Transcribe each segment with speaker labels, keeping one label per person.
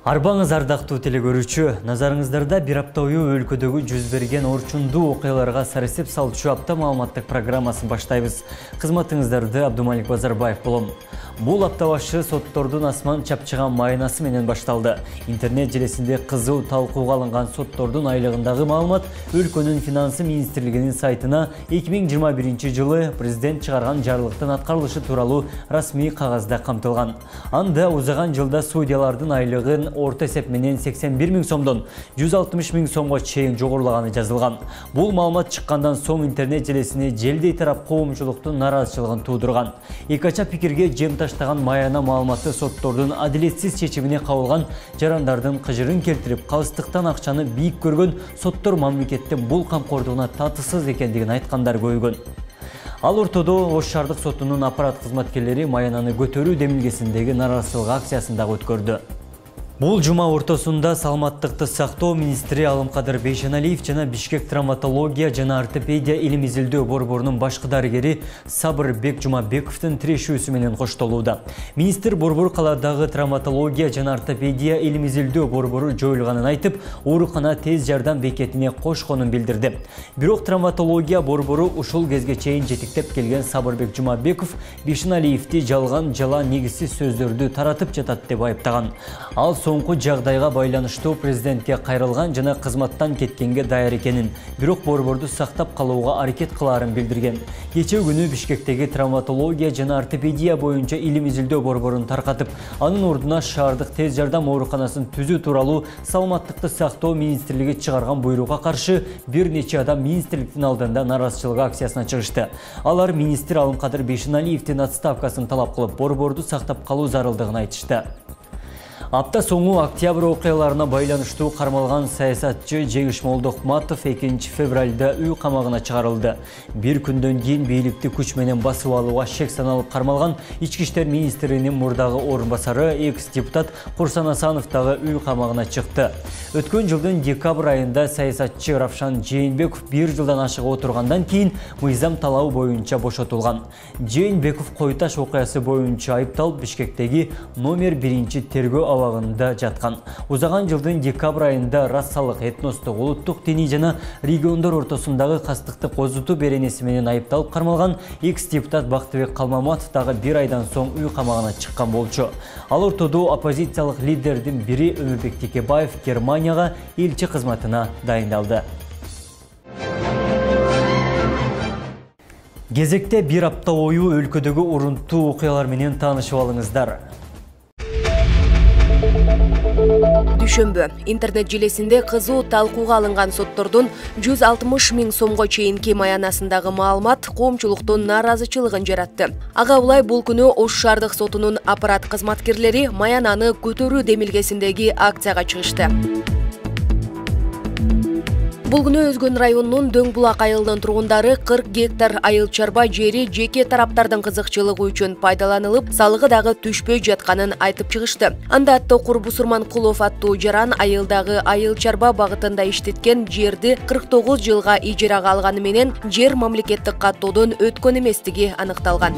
Speaker 1: Арбаңыз ардактуу телекөрүүчү, назарыңыздарда бир апта бою өлкөдөгү жүз берген орчундуу окуяларга сарсеп салчу апта маалыматтык программасын баштайбыз. Кызматыңыздарды Абдумалик Базарбаев болом. Бул апта башы соттордун асман чапчыган майнасы менен башталды. Интернет желесинде кызуу талкууга алынган соттордун айлыгындагы маалымат өлкөнүн финансы министрлигинин сайтына 2021 жылы президент чыгарган жарлыктын аткарылышы тууралуу расмий кагазда камтылган. Анда узаган жылда судьялардын айлыгын орто эсеп менен 81 000 сомдон 160 000 сомго чейин жогорулаганы жазылган. Бул маалымат чыккандан соң интернет желесине желдей тарап коомчулуктун нараазычылыгын туудурган. Экача пикирге жем таштаган майана маалыматы соттордун адилетсиз чечимине кабылган жарандардын кыжырын келтирип, калыстыктан акчаны бийик көргөн соттор мамлекеттин бул камкордугуна татысыз экендигин айткандар көйгөн. Ал ортодо Ош шаардык сотунун аппарат кызматкерлери маянаны көтөрүү демилгесиндеги нараазычылык акциясын дагы өткөрдү. Бул жума ортосунда саламаттыкты сактоо министри Алымкадыр Бейшеналиев жана Бишкек травматология жана ортопедия илим изилдөө борборунун башкы дарыгери Сабырбек Жумабековдун тирешүүсү менен коштолууда. Министр борбор каладагы травматология жана ортопедия илим изилдөө борбору жоюлганын айтып, оорукана тез жардам бекетине кошконун билдирди. Бирок травматология борбору ушул кезге чейин жетиктеп келген Сабырбек Жумабеков Бейшеналиевди жалган, жала негизсиз сөздөрдү таратып жатат деп айыптаган. Ал соңку жагдайга байланыштуу президентке кайрылган жана кызматтан кеткенге даяр экенин, бирок борборду сактап калууга аракет кылаарын билдирген. Кечээ күнү Бишкектеги травматология жана ортопедия боюнча илим изилдөө борборун таркатып, анын ордуна шаардык тез жардам ооруканасын түзүү тууралуу саламаттыкты сактоо министрлиги чыгарган буйругга каршы бир нече адам министрликтин алдында нараазычылык акциясына чыгышты. Алар министр Алымкадыр Бейшеналиевдин отставкасын талап кылып, борборду сактап калуу зарылдыгын айтышты. Апта соңу октябрь окуяларына байланыштуу кармалган саясатчы Жеңиш Молдохматов 2 февралда үй камагына чыгарылды. Бир күндөн кийин бийликти күч менен басып алууга шек саналып кармалган ички иштер министринин мурдагы орун басары экс-депутат Курсан Асанов дагы үй камагына чыкты. Өткөн жылдын декабрь айында саясатчы Равшан Жээнбеков 1 жылдан ашык отургандан кийин мыйзам талабы боюнча бошотулган. Жээнбеков Койташ окуясы боюнча айыпталып Бишкектеги номер 1 тергөө абагында жаткан. Узаган жылдын декабрь айында расалык, этностук, улуттук, диний жана региондор ортосундагы кастыкты козутуу беренеси менен айыпталып кармалган экс-депутат Бактыбек Калмаматов дагы 1 айдан соң үй камагына чыккан болчу. Ал ортодо оппозициялык лидердин бири Өмүрбек Текебаев Германияга элчи кызматына дайындалды. Кезекте бир апта бою өлкөдөгү урунттуу окуялар менен таанышып алыңыздар.
Speaker 2: Дүшөмбү интернет желесинде кызуу талкууга алынган соттордун 160 000 сомго чейинки маянасындагы маалымат коомчулуктун нааразычылыгын жаратты. Ага улай бул күнү Ош шаардык сотунун аппарат кызматкерлери маянаны көтөрүү демилгесиндеги акцияга чыгышты. Бул күнү Өзгөн районунун Дөң Булак айылынын тургундары 40 гектар айыл чарба жери жеке тараптардын кызыкчылыгы үчүн пайдаланылып, салыгы дагы түшпөй жатканын айтып чыгышты. Анда Токур Бусурманкулов аттуу жаран айылдагы айыл чарба багытында иштеткен жерди 49 жылга ижарага алганы менен жер мамлекеттик каттоодон өткөн эместиги аныкталган.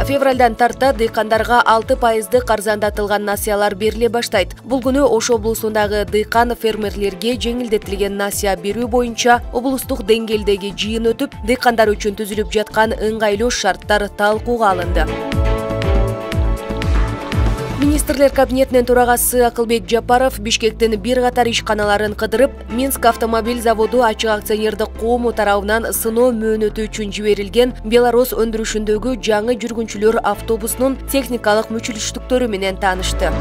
Speaker 2: Февралдан тарта дыйкандарга 6% арзандатылган насыялар бериле баштайт. Бул күнү Ош облусундагы дыйкан фермерлерге жеңилдетилген насыя берүү боюнча облустук деңгээлдеги жыйын өтүп, дыйкандар үчүн түзүлүп жаткан ыңгайлуу шарттар талкууга алынды. Министрлер кабинетинин төрагасы Акылбек Жапаров Бишкектин бир катар ишканаларын кыдырып, Минск автомобиль заводу ачык акционердик коому тарабынан сыноо мөөнөтү үчүн жиберилген Беларусь өндүрүшүндөгү жаңы жүргүнчүлөр автобусунун техникалык мүчүлүштүктөрү менен таанышты.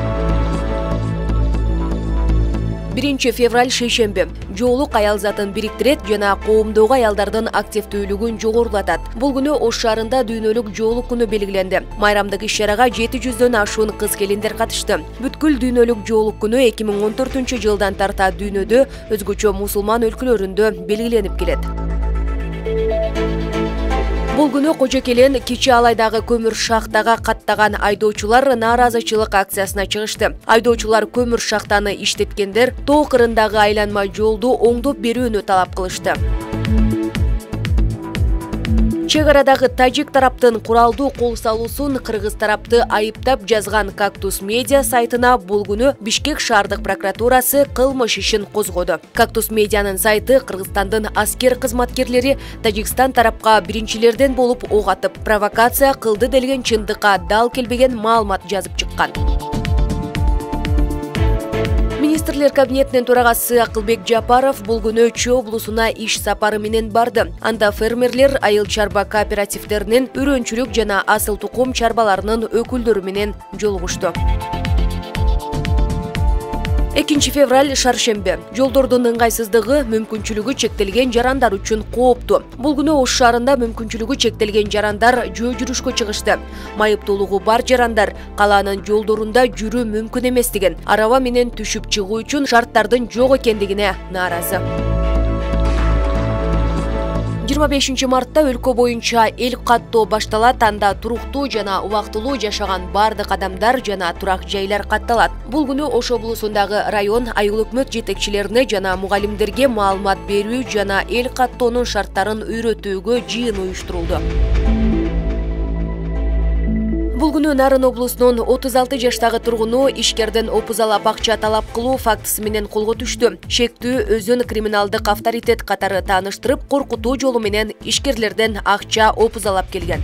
Speaker 2: 1 февраль шейшемби жоолук аял затын бириктирет жана коомдогу аялдардын активдүүлүгүн жогорулатат. Бул күнү Ош шаарында дүйнөлүк жоолук күнү белгиленди. Майрамдык иш-чарага 700дөн ашуун кыз-келиндер катышты. Бүткүл дүйнөлүк жоолук күнү 2014 жылдан тарта дүйнөдө өзгөчө мусулман өлкөлөрүндө белгиленип келет. Бул күнү Кожокелен Кичи Алайдагы көмүр шахтага каттаган айдоочулар нааразычылык акциясына чыгышты. Айдоочулар көмүр шахтаны иштеткендер тоо кырындагы айланма жолду оңдоп берүүнү талап кылышты. Чек арадагы тажик тараптын куралдуу кол салуусун кыргыз тарапты айыптап жазган Кактус медиа сайтына бул күнү Бишкек шаардык прокуратурасы кылмыш ишин козгоду. Кактус медианын сайты Кыргызстандын аскер кызматкерлери Тажикстан тарапка биринчилерден болуп ок атып, провокация кылды делген чындыкка дал келбеген маалымат жазып чыккан. Министрлер кабинетинин төрагасы Акылбек Жапаров бул күнү Чүй облусуна иш сапары менен барды. Анда фермерлер, айыл чарба кооперативдеринин үрөнчүлүк жана асыл тукум чарбаларынын өкүлдөрү менен жолугушту. 2 февраль шаршембе. Жолдордун ыңгайсыздыгы мүмкүнчүлүгү чектелген жарандар үчүн кооптуу. Бул күнү Ош шаарында мүмкүнчүлүгү чектелген жарандар жөө жүрүшкө чыгышты. Майыптуулугу бар жарандар калаанын жолдорунда жүрүү мүмкүн эмес деген араба менен түшүп чыгуу үчүн шарттардын жок экендигине нааразы. 25 мартта өлкө боюнча эл каттоо башталат. Анда туруктуу жана убактылуу жашаган бардык адамдар жана турак жайлар катталат. Бул күнү Ош облусундагы район айыл өкмөт жетекчилерине жана мугалимдерге маалымат берүү жана эл каттоонун шарттарын үйрөтүүгө жыйын уюштурулду. Бул күнү Нарын облусунун 36 жаштагы тургуну ишкерден опузалап акча талап кылуу фактысы менен колго түштү. Шектүү өзүн криминалдык авторитет катары тааныштырып, коркутуу жолу менен ишкерлерден акча опузалап келген.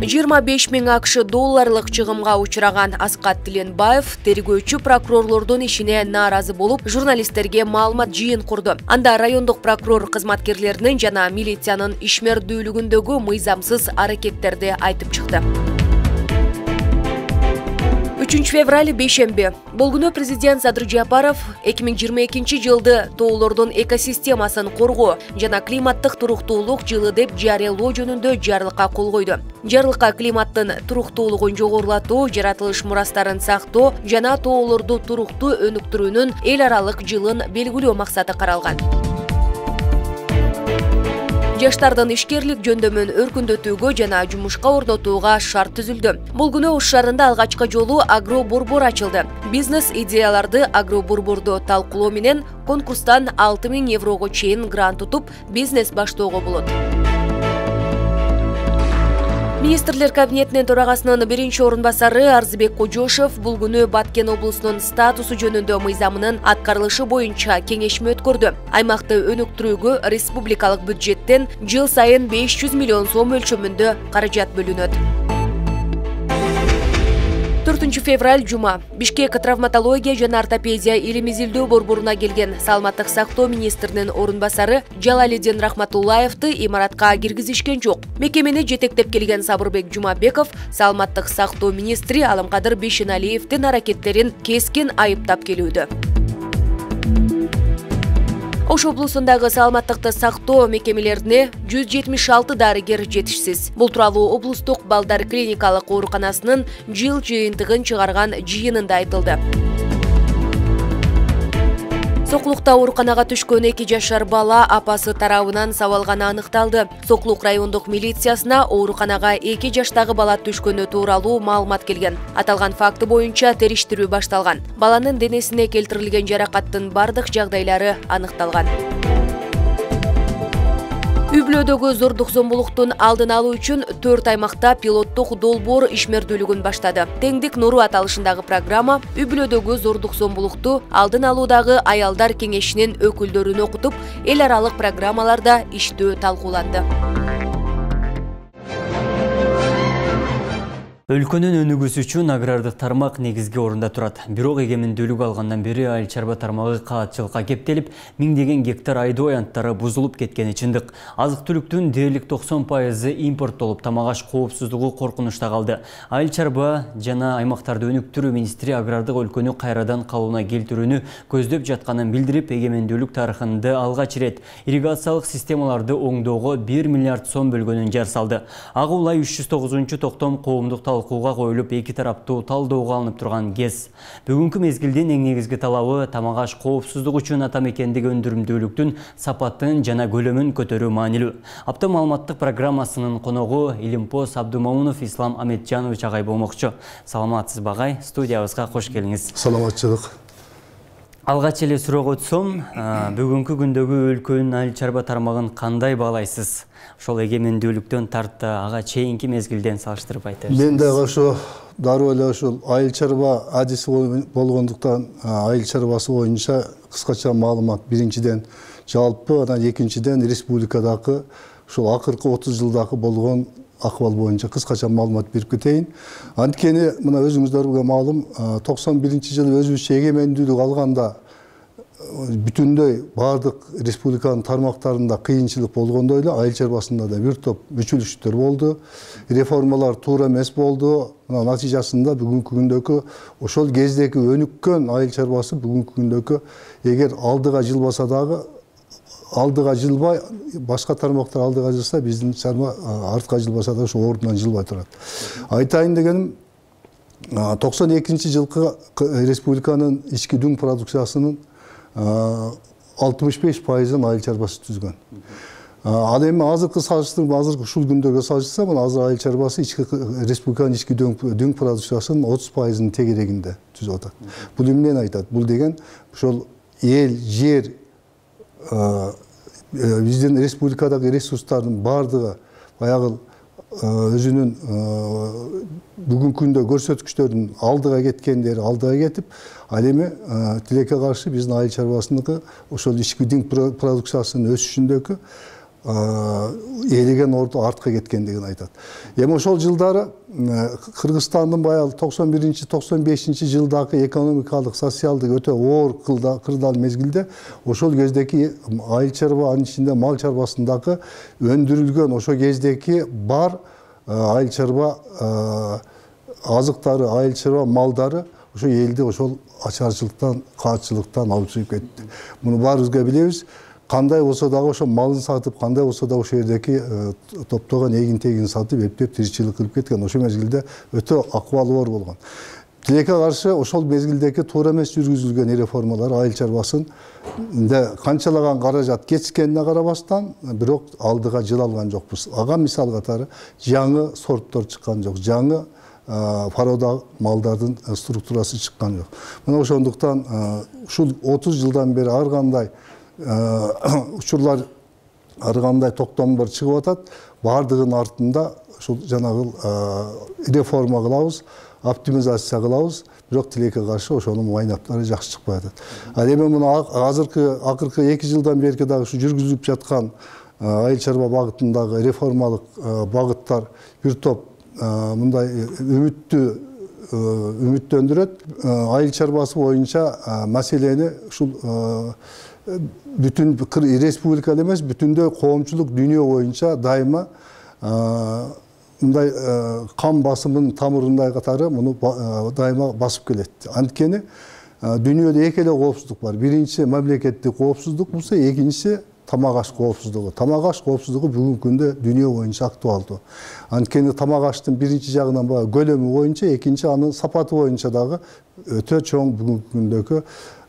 Speaker 2: 25 000 АКШ долларлык чыгымга учураган Аскат Тиленбаев тергөөчү прокурорлордун ишине нааразы болуп, журналисттерге маалымат жыйын курду. Анда райондук прокурор кызматкерлеринин жана милициянын ишмердүүлүгүндөгү мыйзамсыз аракеттерди айтып чыкты. 3 февраль бейшемби. Бул күнү президент Садыр Жапаров 2022 жылды тоолордун экосистемасын коргоо жана климаттык туруктуулук жылы деп жарыялоо жөнүндө жарлыкка кол койду. Жарлыкка климаттын туруктуулугун жогорулатуу, жаратылыш мурастарын сактоо жана тоолорду туруктуу өнүктүрүүнүн эл аралык жылын белгилөө максаты каралган. Жаштардын ишкерлик жөндөмүн өркүндөтүүгө жана жумушка орнотууга шарт түзүлдү. Бул күнү Ош шаарында алгачкы жолу агроборбор ачылды. Бизнес идеяларды агроборбордо талкуулоо менен конкурстан 6 000 еврого чейин грант утуп, бизнес баштоого болот. Министрлер кабинетинин төрагасынын биринчи орун басары Арзыбек Кожошев бул күнү Баткен облусунун статусу жөнүндө мыйзамынын аткарылышы боюнча кеңешме өткөрдү. Аймакты өнүктүрүүгө республикалык бюджеттен жыл сайын 500 миллион сом өлчөмүндө каражат бөлүнөт. 4 февраль жума. Бишкек травматология жана ортопедия илим изилдөө борборуна келген саламаттык сактоо министринин орун басары Жалалидин Рахматуллаевди имаратка киргизишкен жок. Мекемени жетектеп келген Сабырбек Жумабеков саламаттык сактоо министри Аламкадыр Бейшеналиевдин аракеттерин кескин айыптап келүүдө. Ош облусундагы саламаттыкты сактоо мекемелерине 176 дарыгер жетишсиз. Бул тууралуу облустук балдар клиникалык ооруканасынын жыл жыйынтыгын чыгарган жыйынында айтылды. Соклукта ооруканага түшкөн 2 жашар бала апасы тарабынан сабалганы аныкталды. Соклук райондук милициясына ооруканага 2 жаштагы бала түшкөнү тууралуу маалымат келген. Аталган факты боюнча териштирүү башталган. Баланын денесине келтирилген жаракаттын бардык жагдайлары аныкталган. Үй-бүлөдөгү зордук зомбулуктун алдын алуу үчүн 4 аймакта пилоттук долбоор ишмердүүлүгүн баштады. Теңдик нуру аталышындагы программа үй-бүлөдөгү зордук зомбулукту алдын алуудагы аялдар кеңешинин өкүлдөрүн окутуп, эл аралык программаларда иштөө талкууланды.
Speaker 1: Өлкөнүн өнүгүүсү үчүн агрардык тармак негизги орунда турат. Бирок эгемендүүлүк алгандан бери айыл чарба тармагы каатчылыкка кептелип, миңдеген гектар айдоо аянттары бузулуп кеткени чындык. Азык-түлүктүн дээрлик 90% импорттолуп, тамак-аш коопсуздугу коркунучта калды. Айыл чарба жана аймактарды өнүктүрүү министри агрардык өлкөнү кайрадан калыбына келтирүүнү көздөп жатканын билдирип, эгемендүүлүк тарыхында алгач ирет ирригациялык системаларды оңдоого 1 миллиард сом бөлгөнүн жар салды. Ага улай 309-токтом коомдук талкууга коюлуп, эки тараптуу талdoого алынып турган кез. Бүгүнкү мезгилдин эң негизги талабы тамак-аш коопсуздугу үчүн ата мекендеги өндүрүмдүүлүктүн сапатын жана көлөмүн көтөрүү маанилүү. Апта маалыматтык программасынын коногу Илимпоз Абдумамунов Ислам Аметжанович агай болмокчу. Саламатсызбы агай, студиябызга кош келиңиз.
Speaker 3: Саламатчылык.
Speaker 1: Алгач эле суроого өтсөм, бүгүнкү күндөгү өлкөнүн айыл чарба тармагын кандай баалайсыз? Ошол эгемендүүлүктөн тарта ага чейинки мезгилден салыштырып айтыңыз.
Speaker 3: Мен дагы ошо дароо эле ошол айыл чарба адиси болгондуктан айыл чарбасы боюнча кыскача маалымат. Биринчиден жалпы, анан экинчиден республикадагы ушул акыркы 30 жылдагы болгон акыбал боюнча кыскача маалымат берип кетейин. Анткени мына өзүңүздөргө маалым, 91-жылы өзүбүзчө эгемендүүлүк алганда бүтүндөй бардык республиканын тармактарында кыйынчылык болгондой эле айыл чарбасында да бир топ мүчөлүштүктөр болду. Реформалар туура эмес болду. Натыйжасында бүгүнкү күндөгү ошол кездеги өнүккөн айыл чарбасы бүгүнкү күндөгү эгер алдыга жылбаса дагы алдыга жылбай, башка тармактар алдыга жылса, биздин чарба артка жылбаса да ошо ордунан жылбай турат. Айтайын дегеним, 92-жылкы республиканын ички дүң продукциясынын 65%-ын айыл чарбасы түзгөн. Ал эми азыркы салыштырма, азыркы ушул күндөргө салыштырса, мына азыр айыл чарбасы республиканын ички дүң продукциясынын 30%-ын тегерегинде түзүп атат. Бул эмнени айтат? Бул деген ошол эл, жер, биздин республикадагы ресурстардын бардыгы баягы өзүнүн бүгүнкү күндө көрсөткүчтөрүнүн алдыга кеткендери алдыга кетип, ал эми тилекке каршы биздин айыл чарбасыныкы ошол ички дүң продукциясынын өсүшүндөгү ээлеген орду артка кеткендигин айтат. Эми ошол жылдары Кыргызстандын баягы 91-95 жылдагы экономикалык, социалдык өтө оор кырдаал мезгилде ошол кездеги айыл чарба, анын ичинде мал чарбасындагы өндүрүлгөн ошол кездеги бар айыл чарба азыктары, айыл чарба малдары ошо элди ошол ачарчылыктан, каатчылыктан алып чыгып кетти. Муну баарыбызга билебиз. Кандай болсо дагы ошо малын сатып, кандай болсо дагы ошол жердеги топтогон эгин-тегин сатып, эптеп тиричилик кылып кеткен. Ошол мезгилде өтө акыбалы оор болгон. Тилекке каршы ошол мезгилдеги туура эмес жүргүзүлгөн реформалар айыл чарбасында канчалаган каражат кетишкенине карабастан, бирок алдыга жыла алган жокпуз. Ага мисал катары жаңы сорттор чыккан жок, жаңы порода малдардын структурасы чыккан жок. Мына ошондуктан ушул 30 жылдан бери ар кандай учурлар, ар кандай токтомдор чыгып атат. Бардыгынын артында ушул жанагы реформа кылабыз, оптимизация кылабыз, бирок тилекке каршы ошонун майнаптары жакшы чыкпай атат. Ал эми мына акыркы 2 жылдан берки дагы ушу жүргүзүлүп жаткан айыл чарба багытындагы реформалык багыттар бир топ мындай үмүттөндүрөт. Айыл чарбасы боюнча маселени ушул бүтүн республика эмес, бүтүндөй коомчулук дүйнө боюнча дайыма мындай кан басымынын тамырындай катары муну дайыма басып келет. Анткени дүйнөдө эки эле коопсуздук бар. Биринчи мамлекеттик коопсуздук болсо, экинчиси тамак аш коопсуздугу. Тамак аш коопсуздугу бүгүнкү күндө дүйнө боюнча актуалдуу. Анткени тамак аштын биринчи жагынан баягы көлөмү боюнча, экинчи анын сапаты боюнча дагы өтө чоң бүгүнкү күндөгү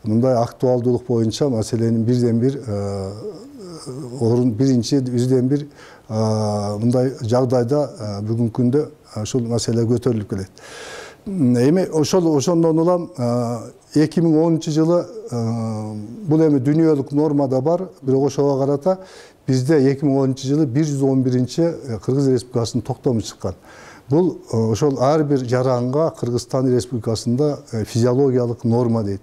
Speaker 3: мындай актуалдуулук боюнча маселенин бирден бир орун, бирден бир мындай жагдайда бүгүнкү күндө ушул маселе көтөрүлүп келет. Эми ошондон улам 2010-жылы бул эми дүйнөлүк нормада бар, бирок ошого карата бизде 2010-жылы 111-чи Кыргыз Республикасынын токтому чыккан. Бул ошол ар бир жаранга Кыргызстан Республикасында физиологиялык норма дейт.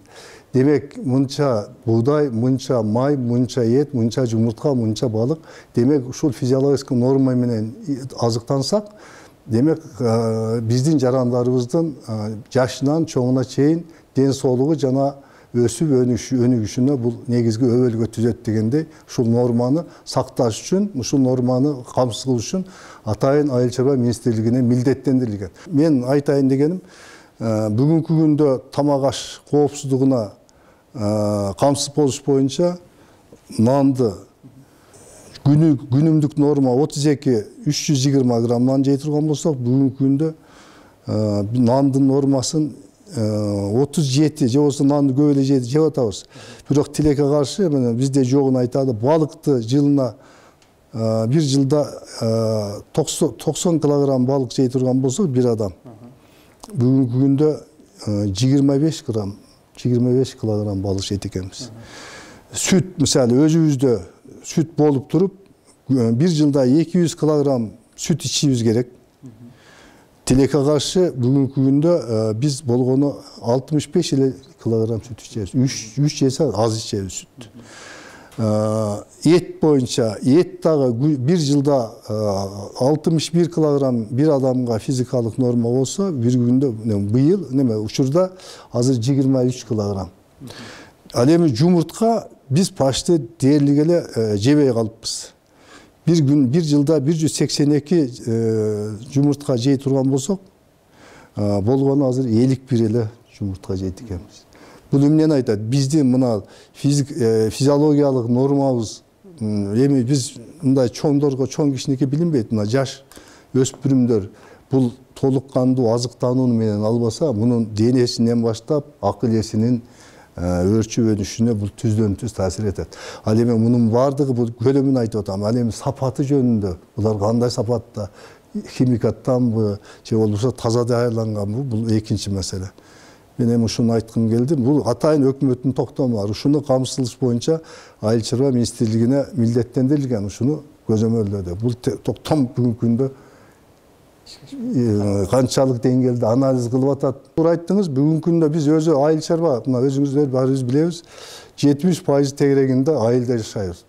Speaker 3: Демек, мынча бугдай, мынча май, мынча эт, мынча жумуртка, мынча балык. Демек, ушул физиологиялык норма менен азыктансак, демек, биздин жарандарыбыздын жашынан чоңуна чейин ден соолугу жана өсүп өнүгүшүнө бул негизги өбөлгө түзөт дегендей, ушул норманы сакташ үчүн, ушул норманы камсыз кылыш үчүн атайын айыл чарба министрлигине милдеттендирилген. Мен айтайын дегеним, бүгүнкү күндө тамак аш коопсуздугуна камсыз болуш боюнча нанды күнүмдүк норма 32-320 грамм нан жей турган болсок, бүгүнкү күндө нандын нормасын 37 же болбосо нанды көп эле жеп атабыз. Бирок тилекке каршы бизде жогун айтады, балыкты жылына бир жылда 90 килограмм балык жей турган болсок, бир адам бүгүнкү күндө 25 грамм 25 килограмм балық жейт экенбиз. Сүт мисалы өзүбүздө сүт болуп туруп, бир жылда 200 килограмм сүт ичишибиз керек. Тилекке каршы бүгүнкү күндө биз болгону 65 килограмм сүт ичебиз. 3 жесе аз ичебиз сүт. Ет боюнча, ет дагы бир жылда 61 килограмм бир адамга физикалык норма болсо, бир күндө быйыл учурда азыр 23 килограмм. Ал эми жумуртка биз почти дээрлик эле жебей калыппыз. Бир жылда 182 жумуртка жей турган болсок, болгону азыр 51 эле жумуртка жейт экенбиз. Бул эмнени айтат? Биздин мына физиологиялык нормабыз, эми биз мындай чоңдорго чоң кишинеке билинбейт, мына жаш өспүрүмдөр бул толук кандуу азыктануу менен албаса, мунун денесинен баштап акыл эсинин өрчүп өнүшүнө бул түздөн түз таасир этет. Ал эми мунун баардыгы бул көлөмүн айтып атам. Ал эми сапаты жөнүндө булар кандай сапатта, химикаттанбы же болбосо таза даярданганбы, бул экинчи маселе. Мен эми ушуну айткым келди. Бул атайын өкмөттүн токтому бар. Ушуну камсыздаш боюнча Айыл чарба министрлигине милдеттендирилген, ушуну көзөмөлдөдү. Бул токтом бүгүнкү күндө канчалык деңгээлде анализ кылып атат. Туура айттыңыз, бүгүнкү күндө биз өзү айыл чарба, мына өзүңүздөр баарыбыз билебиз, 70% тегерегинде айылда жашайбыз.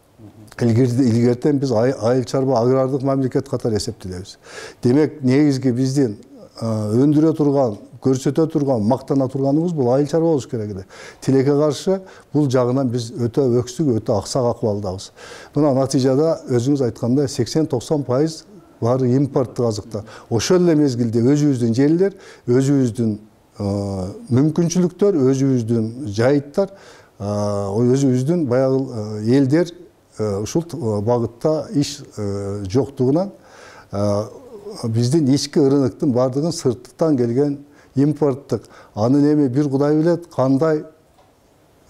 Speaker 3: Илгертен биз айыл чарба агрардык мамлекет катары эсептелебиз. Демек, негизги биздин өндүрө турган, көрсөтө турган, мактана турганыбыз бул айыл чарба болуш керек эле. Тилекке каршы бул жагынан биз өтө өксүк, өтө аксак акыбалдабыз. Мына натыйжада өзүңүз айткандай 80-90% баары импорттук азыктар. Ошол эле мезгилде өзүбүздүн жерлер, өзүбүздүн мүмкүнчүлүктөр, өзүбүздүн жайыттар, өзүбүздүн баягы элдер ушул багытта иш жоктугунан биздин ички рыноктун баардыгын сырттан келген импорттук, анын эми бир Кудай билет кандай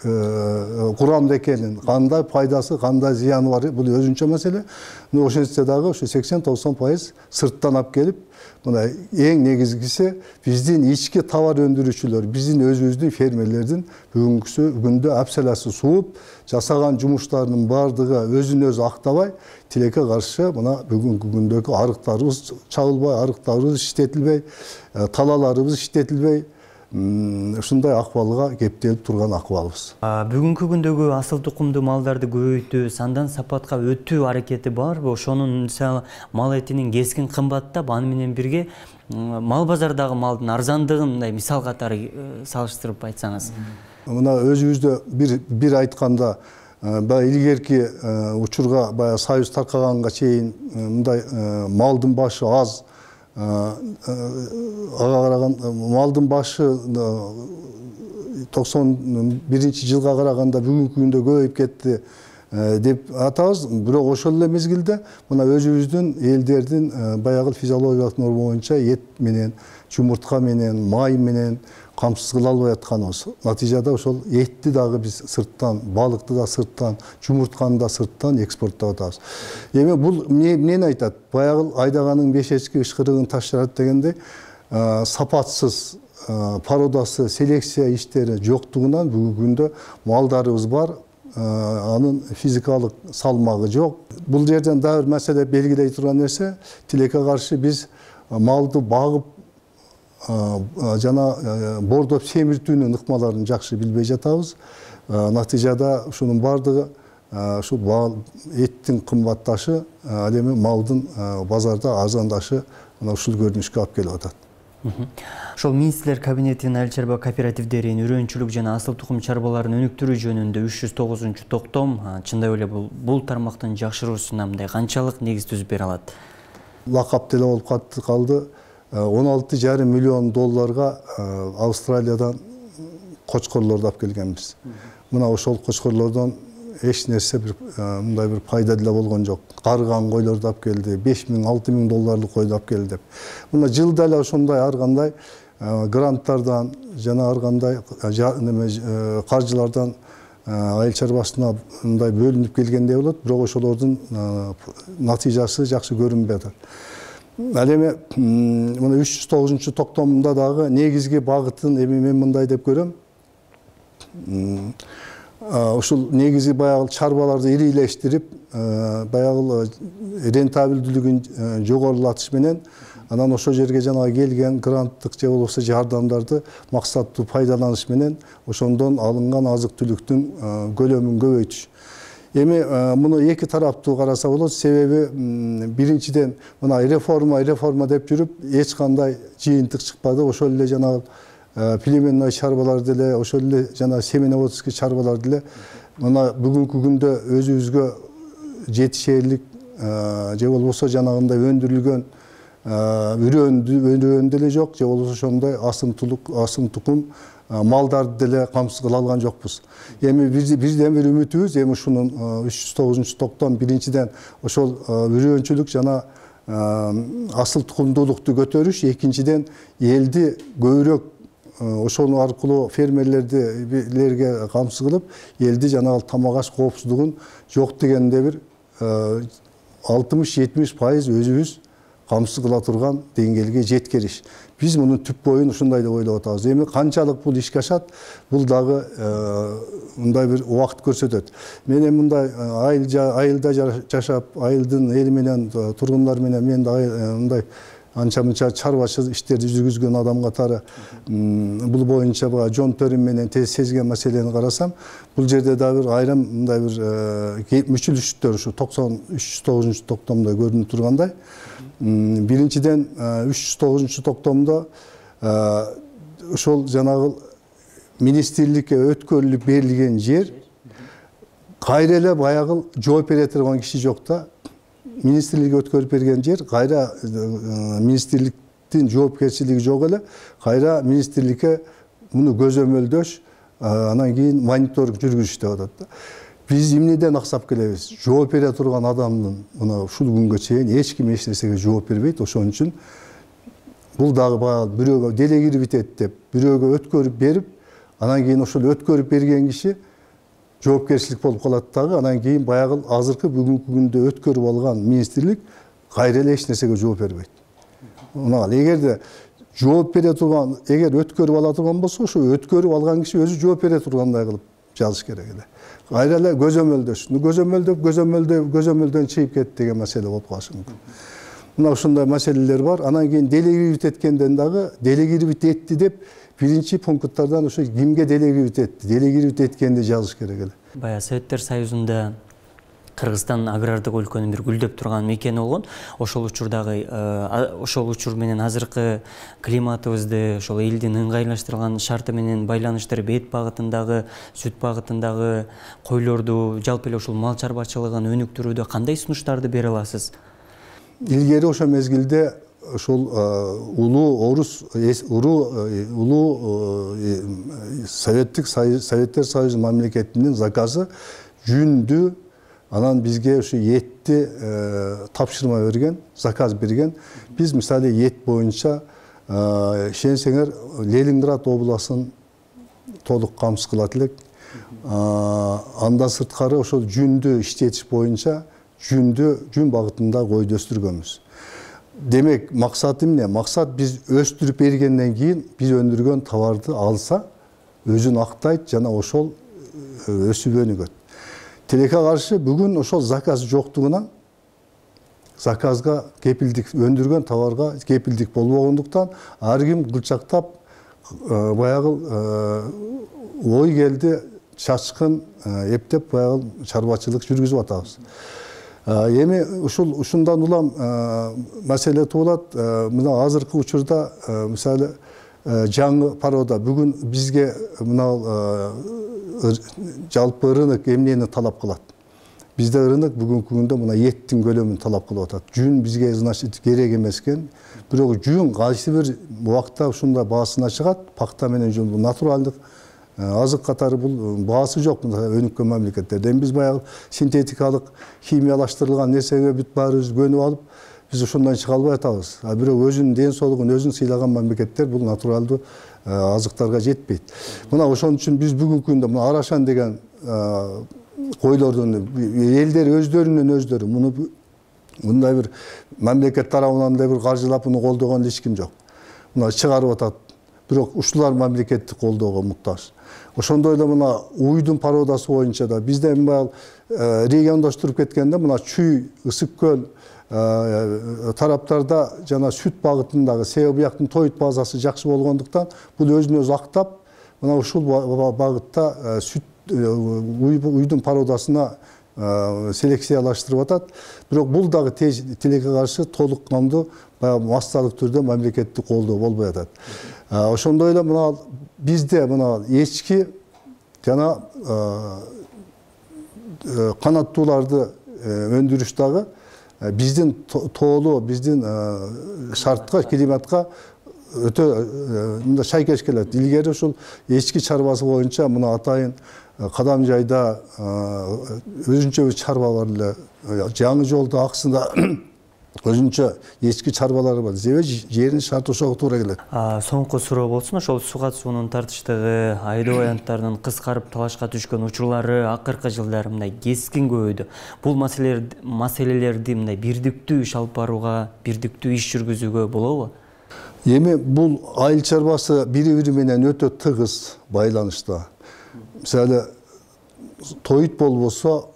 Speaker 3: курамда экенин, кандай пайдасы, кандай зыяны бар, бул өзүнчө маселе. Ошентсе дагы ошо 80-90% сырттан алып келип, мына эң негизгиси биздин ички товар өндүрүүчүлөр, биздин өзүбүздүн фермерлердин бүгүнкү күндө апселасы сууп, жасаган жумуштарынын баардыгы өзүн өзү актабай, тилекке каршы мына бүгүнкү күндөгү арыктарыбыз чабылбай, арыктарыбыз иштетилбей, талаларыбыз иштетилбей, ушундай акыбалга кептелип турган акыбалыбыз.
Speaker 1: Бүгүнкү күндөгү асыл тукумдуу малдарды көбөйтүү, сандан сапатка өтүү аракети барбы? Ошонун мисалы мал этинин кескин кымбаттап, аны менен бирге мал базардагы малдын арзандыгын мындай мисал катары салыштырып айтсаңыз. Мына
Speaker 3: өзүбүздө бир айтканда, баягы илгерки учурга, баягы союз таркаганга чейин мындай малдын башы аз, ага караган малдын башы 91-жылга караганда бүгүнкү күндө көбөйүп кетти деп атабыз. Бирок ошол эле мезгилде мына өзүбүздүн элдердин баягы физиологиялык норма боюнча эт менен, жумуртка менен, май менен камсыз кыла албай атканыбыз. Натыйжада ошол этти дагы биз сырттан, балыкты да сырттан, жумуртканы да сырттан экспорттоп атабыз. Эми бул эмнени айтат? Баягы айдаганын 5 эчки ышкырыгын таш жарат дегендей, сапатсыз, породасы, селекция иштери жоктугунан бүгүнкү күндө малдарыбыз бар, анын физикалык салмагы жок. Бул жерден дагы бир маселе белгилей турган нерсе, тилекке каршы биз малды багып жана бордоп семиртүүнүн ыкмаларын жакшы билбей жатабыз. Натыйжада ушунун баардыгы ушул эттин кымбатташы, ал эми малдын базарда арзандашы мына ушул көрүнүшкө алып келип атат.
Speaker 1: Ошол министрлер кабинетинин айыл чарба кооперативдерин үрөнчүлүк жана асыл тукум чарбаларын өнүктүрүү жөнүндө 309-токтом чындап эле бул тармактын жакшыруусуна мындай канчалык негиз түзүп бере алат?
Speaker 3: Лакап деле болуп калды. 16,5 миллион долларга Австралиядан кочкорлорду алып келгенбиз. Мына ошол кочкорлордон эч нерсе мындай бир пайда деле болгон жок. Карыган койлорду алып келди, 5.000-6.000 долларлык койду алып келди деп. Мына жылда эле ошондой ар кандай гранттардан жана ар кандай каржылардан айыл чарбасына мындай бөлүнүп келгендей болот, бирок ошолордун натыйжасы жакшы көрүнбөй атат. Ал эми мына 309-токтомунда дагы негизги багытын эми мен мындай деп көрөм. Ушул негизи баягы чарбаларды ирилештирип, баягы рентабелдүүлүгүн жогорулатыш менен анан ошол жерге жанагы келген гранттык же болбосо жардамдарды максаттуу пайдаланыш менен ошондон алынган азык-түлүктүн көлөмүн көбөйтүш. Эми муну эки тараптуу караса болот, себеби биринчиден мына реформа деп жүрүп эч кандай жыйынтык чыкпады. Ошол эле жанагы племенный чарбалар деле, ошол эле жана семеноводский чарбалар деле мына бүгүнкү күндө өзүбүзгө жетишерлик же болбосо жанагындай өндүрүлгөн үрөөн деле жок, же болбосо ошондой асым тукум малдарды деле камсыз кыла алган жокпуз. Эми бирден бир үмүтүбүз эми ушунун 309-токтом биринчиден ошол үрөөнчүлүк жана асыл тукумдуулукту көтөрүш, экинчиден элди көбүрөөк ошол аркылуу фермерлерге камсыз кылып, элди жанагы тамак аш коопсуздугун жок дегенде бир 60-70% өзүбүз камсыз кыла турган деңгээлге жеткириш. Биз мунун түп боюн ушундай деп ойлоп атабыз. Эми канчалык бул ишке ашат, бул дагы мындай бир убакыт көрсөтөт. Мен эми мындай айылда жашап, айылдын эли менен, тургундар менен мен да мындай анча-мынча чарбачыл иштерди жүргүзгөн адам катары бул боюнча жон төрүм менен тез сезген маселени карасам, бул жерде да бир айрым мындай бир мүчүлүштөр ушу 309-токтомдо көрүнүп тургандай. Биринчиден 309-токтомдо ошол жанагы министрликке өткөрүлүп берилген жер кайра эле баягы жооп бере турган киши жок да. Министрликке өткөрүп берген жер кайра министрликтин жоопкерчилиги жок эле, кайра министрликке муну көзөмөлдөш, анан кийин мониторинг жүргүзүш деп атат да. Биз эмнеден аксап келебиз? Жооп бере турган адамдын мына ушул күнгө чейин эч ким эч нерсеге жооп бербейт. Ошон үчүн бул дагы баягы бирөөгө делегировать деп, бирөөгө өткөрүп берип, анан кийин ошол өткөрүп берген киши жоопкерчилик болуп калат дагы, анан кийин баягы азыркы бүгүнкү күндө өткөрүп алган министрлик кайра эле эч нерсеге жооп бербейт. Мына эгерде жооп бере турган, эгер өткөрүп ала турган болсо, ошо өткөрүп алган киши өзү жооп бере тургандай кылып жазыш керек эле. Кайра эле көзөмөлдөш. Көзөмөлдөн чыгып кетти деген маселе болуп калышы мүмкүн. Мына ушундай маселелер бар. Анан кийин делегировать эткенден дагы делегировать этти деп биринчи пункттардан ошо кимге делегировать этти, делегировать эткенди жазыш керек эле.
Speaker 1: Бая Советтер Союзунда Кыргызстан агрардык өлкөнүн бир гүлдөп турган мекени болгон. Ошол учур менен азыркы климатыбызды, ошол элдин ыңгайлаштырылган шарты менен байланыштырып, эт багытындагы, сүт багытындагы койлорду, жалпы эле ушул мал чарбачылыгын өнүктүрүүдө кандай сунуштарды бере аласыз?
Speaker 3: Илгери ошо мезгилде ошол улуу Советтер Союзу мамлекетинин заказы жүндү, анан бизге ушу этти тапшырма берген, заказ берген. Биз мисалы эт боюнча ишенсеңер Ленинград областын толук камсыз кылат элек. Андан сырткары ошол жүндү иштетиш боюнча жүн багытында койду өстүргөнбүз. Демек, максат эмне? Максат биз өстүрүп бергенден кийин биз өндүргөн товарды алса, өзүн актайт жана ошол өсүп өнүгөт. Тилекке каршы бүгүн ошол заказ жоктугунан заказга кепилдик, өндүргөн товарга кепилдик болбогондуктан ар ким кылчактап баягы ой келди, чачкын эптеп баягы чарбачылык жүргүзүп атабыз. Эми ушундан улам маселе туулат. Мына азыркы учурда мисалы жаңы парода бүгүн бизге мына жалпы рынок эмнени талап кылат? Бизде рынок бүгүнкү күндө мына эттин көлөмүн талап кылып атат. Жүн бизге значит керек эмес экен. Бирок жүн кайсы бир убакта ушундай баасына чыгат. Пакта менен жүн натуралдык азык катары бул баасы жок өнүккөн мамлекеттерде. Биз баягы синтетикалык, химиялаштырылган нерсеге бүт баарыбыз көнүп алып, биз ошондон чыга албай атабыз. Бирок өзүнүн ден соолугун өзүн сыйлаган мамлекеттер бул натуралдуу азыктарга жетпейт. Мына ошон үчүн биз бүгүнкү күндө мына Арашан деген койлордун элдер өздөрүнөн муну мындай бир мамлекет тарабынан да бир каржылап муну колдогон эч ким жок. Мына чыгарып атат. Бирок ушулар мамлекеттик колдоого муктаж. Ошондой эле мына уйдун породасы боюнча да бизде баягы региондаштырып кеткенде мына Чүй, Ысык көл тараптарда жана сүт багытындагы себеби бияктын тоют базасы жакшы болгондуктан бул өзүн өзү актап мына ушул багытта сүт уйдун породасына селекциялаштырып атат. Бирок бул дагы тилекке каршы толук кандуу баягы массалык түрдө мамлекеттик колдоо болбой атат. Ошондой эле мына бизде мына эчки жана канаттууларды өндүрүш дагы биздин тоолуу, биздин шартка, климатка өтө мында шайкеш келет. Илгери ушул эчки чарбасы боюнча мына атайын Кадам жайда өзүнчө бир чарба бар эле. Жаңы жолдо аксында өзүнчө эчки чарбалары бар. Себеби жердин шарты ошого туура келет.
Speaker 1: Соңку суроо болсун, ошол суга суунун тартыштыгы, айдоо аянттарынын кыскарып талашка түшкөн учурлары акыркы жылдары мындай кескин көбөйдү. Бул маселелерди мындай бирдиктүү иш алып барууга, бирдиктүү иш жүргүзүүгө болобу?
Speaker 3: Эми бул айыл чарбасы бири-бири менен өтө тыгыз байланышта. Мисалы, тоют болбосо,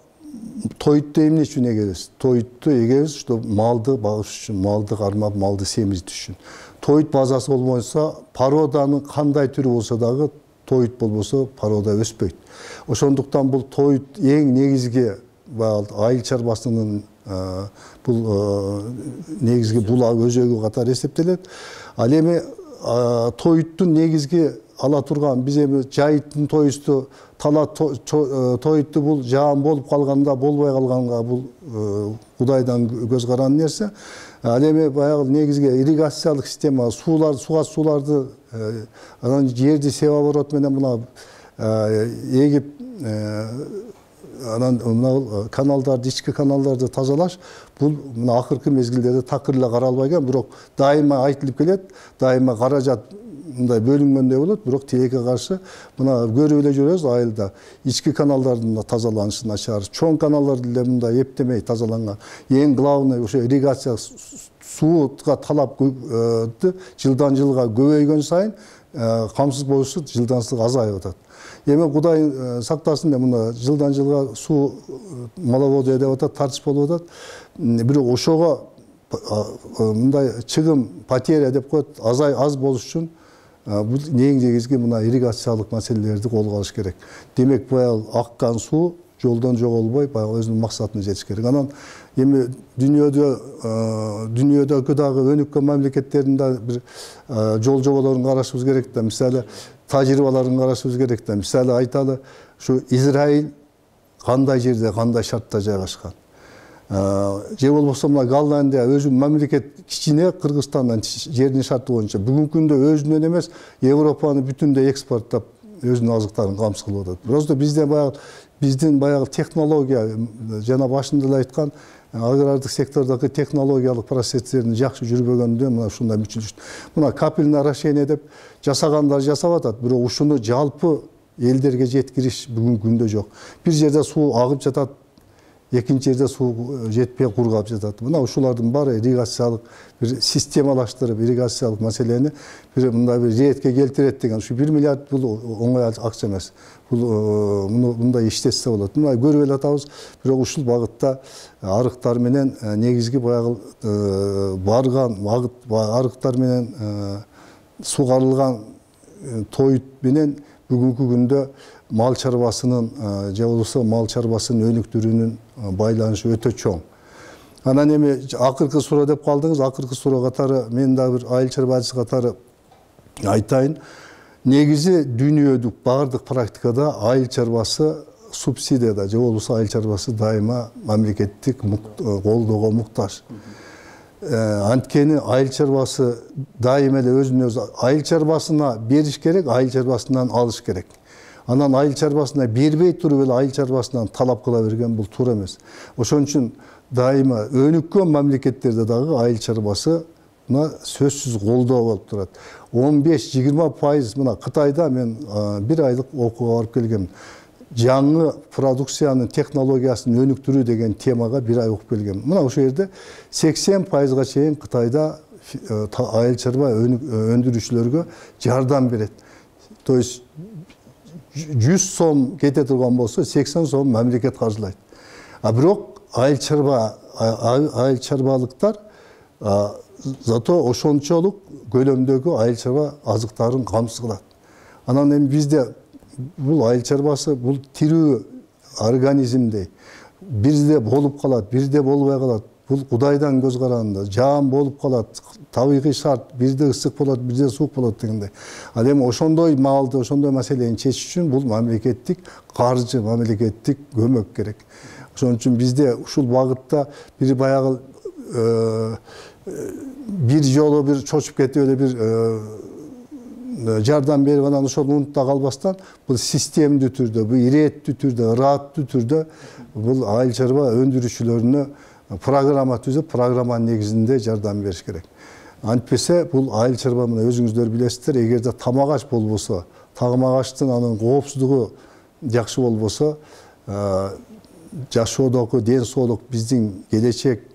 Speaker 3: тоютту эмне үчүн эгебиз? Тоютту эгебиз, что малды багыш үчүн, малды кармап, малды семиртиш үчүн. Тоют базасы болбосо, породанын кандай түрү болсо дагы, тоют болбосо, порода өспөйт. Ошондуктан бул тоют эң негизги айыл чарбасынын бул негизги булак өзөгү катары эсептелет. Ал эми тоюттун негизги ала турган биз эми жайыттын тоюсту тоютту бул жаан болуп калганда болбой калганга бул Кудайдан көз каран нерсе. Ал эми баягы негизги ирригациялык система суга сууларды анан жерди себоборот менен мына эгип анан мына каналдарды, ички каналдарды тазалаш бул мына акыркы мезгилдерде такыр эле каралбай келген, бирок дайыма айтылып келет, дайыма каражат мындай бөлүнгөндөй болот, бирок тилекке каршы мына көрүп эле жүрөбүз айылда ички каналдардын тазаланышына чыгарып, чоң каналдарды эле мындай эптемей тазаланган. Эң главный ошо ирригация сууга талап жылдан жылга көбөйгөн сайын камсыз болушу жылдансыз азайып атат. Эми Кудай сактасын деп мына жылдан жылга суу маловодия деп атат, тартыш болуп атат. Бирок ошого мындай чыгым, потеря деп коет, аз болуш үчүн бул эң негизги мына ирригациялык маселелерди колго алыш керек. Демек, баягы аккан суу жолдон жоголбой, баягы өзүнүн максатына жетиш керек. Анан эми дүйнөдөгү дагы өнүккөн мамлекеттердин да бир жол жоболорун карашыбыз керек да. Мисалы, тажрыйбаларын карашыбыз керек да. Мисалы айталы, ушу Израиль кандай жерде, кандай шартта жайгашкан. Же болбосо мына Голландия өзүнүн мамлекет кичине, Кыргызстандан жердин шарты боюнча бүгүнкү күндө өзүнөн эмес Европаны бүтүндөй экспорттап өзүнүн азыктарын камсыз кылып атат. Просто бизде баягы биздин баягы технология жана башында эле айткан агрардык сектордогу технологиялык процесстердин жакшы жүрбөгөндөн мына ушундай мүчүлүш. Мына капельное орошение деп жасагандар жасап атат, бирок ушуну жалпы элдерге жеткириш бүгүнкү күндө жок. Бир жерде суу агып жатат, экинчи жерде суу жетпей кургап жатат. Мына ушулардын баары ирригациялык бир системалаштырып, ирригациялык маселени бир мындай бир ретке келтирет деген. Ушу 1 миллиард бул оңой акча эмес. Бул мындай иштетсе болот. Мына көрүп эле атабыз, бирок ушул багытта арыктар менен негизги баягы барган арыктар менен сугарылган тоют менен бүгүнкү күндө мал чарбасынын же болбосо мал чарбасынын өнүктүрүүнүн байланышы өтө чоң. Анан эми акыркы суроо деп калдыңыз, акыркы суроо катары мен дагы бир айыл чарбачысы катары айтайын. Негизи дүйнөдүк баардык практикада айыл чарбасы субсидияда же болбосо айыл чарбасы дайыма мамлекеттик колдоого муктаж. Анткени айыл чарбасы дайыма эле өзүнө өзү айыл чарбасына бериш керек, айыл чарбасынан алыш керек. Анан айыл чарбасына бербей туруп эле айыл чарбасынан талап кыла берген бул туура эмес. Ошон үчүн дайыма өнүккөн мамлекеттерде дагы айыл чарбасы сөзсүз колдоо болуп турат. 15-20% мына Кытайда мен бир айлык окууга барып келгем. Жаңы продукциянын технологиясын өнүктүрүү деген темага бир ай окуп келгем. Мына ошол жерде 80%га чейин Кытайда айыл чарба өндүрүүчүлөргө жардам берет. То есть 100 сом кете турган болсо 80 сом мамлекет каржылайт. Бирок айыл чарбалыктар зато ошончолук көлөмдөгү айыл чарба азыктарын камсыз кылат. Анан эми бизде бул айыл чарбасы бул тирүү организмдей бирде болуп калат, бирде болбой калат. Бул Кудайдан көз караганда жаан болуп калат, табигый шарт, бирде ысык болот, бирде суук болот дегендей. Ал эми ошондой маалды, ошондой маселени чечиш үчүн бул мамлекеттик каржы, мамлекеттик көмөк керек. Ошон үчүн бизде ушул багытта бир баягы бир жолу бир чочуп кетип эле бир жардам берип анан ошол унутта калбастан бул системдүү түрдө, бул иреттүү түрдө, ыраттуу түрдө бул айыл чарба өндүрүүчүлөрүнө программа түзүп, программанын негизинде жардам бериш керек. Антпесе бул айыл чарба мына өзүңүздөр билесиздер, эгерде тамак аш болбосо, тамак-аштын анын коопсуздугу жакшы болбосо, жашоодогу ден соолук биздин келечек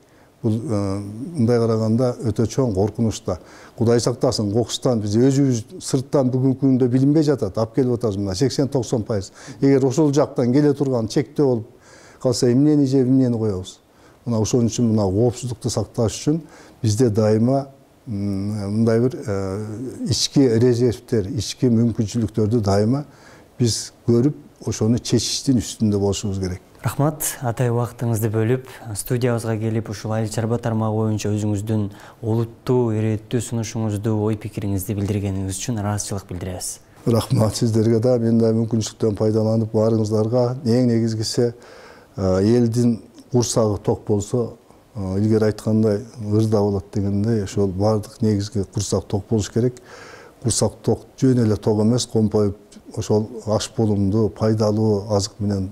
Speaker 3: бул мындай караганда өтө чоң коркунучта. Кудай сактасын, кокустан биз өзүбүз сырттан бүгүнкү күндө билинбей жатат, алып келип атабыз мына 80-90%. Эгер ошол жактан келе турган чектөө болуп калса, эмнени жеп, эмнени коебуз? Мына ошон үчүн мына коопсуздукту сакташ үчүн бизде дайыма мындай бир ички резервтер, ички мүмкүнчүлүктөрдү дайыма биз көрүп, ошону чечиштин үстүндө болушубуз керек.
Speaker 1: Рахмат, атай убактыңызды бөлүп, студиябызга келип, ушул айыл чарба тармагы боюнча өзүңүздүн олуттуу, иреттүү сунушуңузду, ой пикириңизди билдиргениңиз үчүн ыраазычылык билдиребиз.
Speaker 3: Рахмат сиздерге да, мен да мүмкүнчүлүктөн пайдаланып баарыңыздарга эң негизгиси элдин курсагы ток болсо, илгери айткандай ырда болот дегендей, ошол баардык негизги курсак ток болуш керек. Курсак ток жөн эле ток эмес, компоюп ошол аш болумдуу, пайдалуу азык менен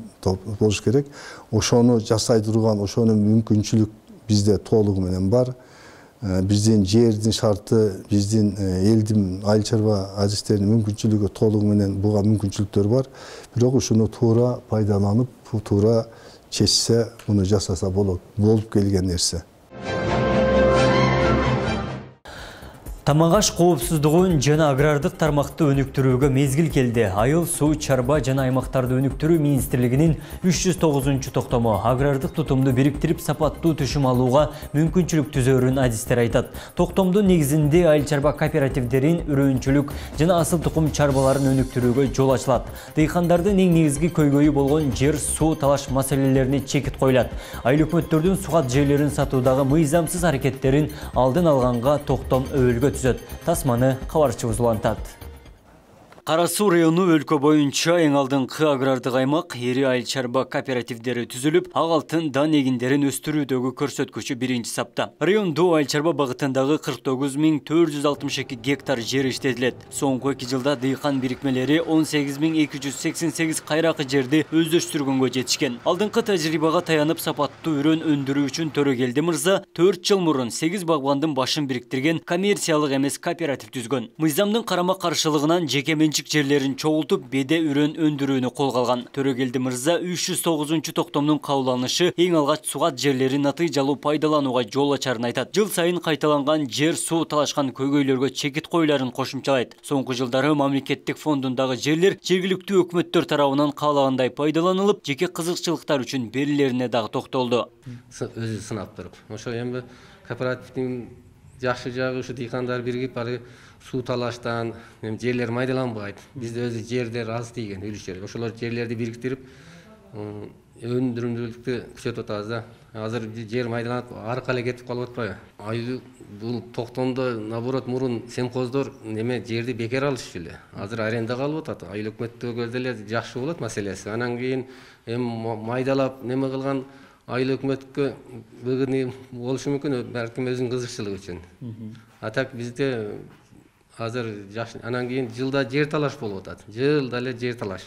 Speaker 3: болуш керек. Ошону жасай турган, ошону мүмкүнчүлүк бизде толугу менен бар. Биздин жердин шарты, биздин элдин айыл чарба адистеринин мүмкүнчүлүгү толугу менен буга мүмкүнчүлүктөр бар. Бирок ушуну туура пайдаланып, туура чечсе, муну жасаса болот. Болуп келген нерсе.
Speaker 1: Тамак-аш коопсуздугун жана агрардык тармакты өнүктүрүүгө мезгил келди. Айыл, суу, чарба жана аймактарды өнүктүрүү министрлигинин 309 токтому агрардык тутумду бириктирип сапаттуу түшүм алууга мүмкүнчүлүк түзөөрүн адистер айтат. Токтомдун негизинде айыл чарба кооперативдерин үрөөнчүлүк жана асыл тукум чарбаларын өнүктүрүүгө жол ачылат. Дыйкандардын эң негизги көйгөйү болгон жер, суу талаш маселелерине чекит коюлат. Айыл өкмөттөрдүн сугат жерлерин сатуудагы мыйзамсыз аракеттерин алдын алганга токтом өбөлгө түзөт. Тасманы кабарчыбыз улантат. Кара Суу району өлкө боюнча эң алдыңкы агрардык аймак, ири айыл чарба кооперативдери түзүлүп, ак алтын дан эгиндерин өстүрүүдөгү көрсөткүчү 1-сапта. Райондо айыл чарба багытындагы 49.462 гектар жер иштетилет. Соңку 2 жылда дыйкан бирикмелери 18.288 кайракы жерди өздөштүргөнгө жетишкен. Алдыңкы тажрыйбага таянып сапаттуу үрөн өндүрүү үчүн Төрөгелди мырза 4 жыл мурун 8 багбандын башын бириктирген коммерциялык эмес кооператив түзгөн. Мыйзамдын карама каршылыгынан жеке жерлерин чогултуп, беде үрөн өндүрүүнү колго алган. Төрөгелди мырза 309 токтомдун кабылданышы эң алгач сугат жерлерин натыйжалуу пайдаланууга жол ачарын айтат. Жыл сайын кайталанган жер, суу талашкан көйгөйлөргө чекит коюларын кошумчалайт. Соңку жылдары мамлекеттик фондундагы жерлер жергиликтүү өкмөттөр тарабынан каалагандай пайдаланылып, жеке кызыкчылыктар үчүн берилерине дагы токтолду.
Speaker 4: Өзү сынап туруп, ошо эми кооперативдин жакшы жагы ушу дыйкандар биригип ары суу талаштан жерлер майдаланбайт. Бизде өзү жерлер аз тийген үлүшчөр. Ошолор жерлерди бириктирип, өндүрүмдүүлүктү күчөтүп атабыз да. Азыр жер майдаланып, аркы эле кетип калып атпайбы? Айыл бул токтомдо наоборот мурун семхоздор неме жерди бекер алышчу эле. Азыр арендага алып атат. Айыл өкмөттөгө деле жакшы болот маселеси. Анан кийин майдалап неме кылган айыл өкмөткө выгодный болушу мүмкүн, балким өзүнүн кызыкчылыгы үчүн. А так бизде азыр жакшы, анан кийин жылда жер талаш болуп атат. Жылда эле жер талаш.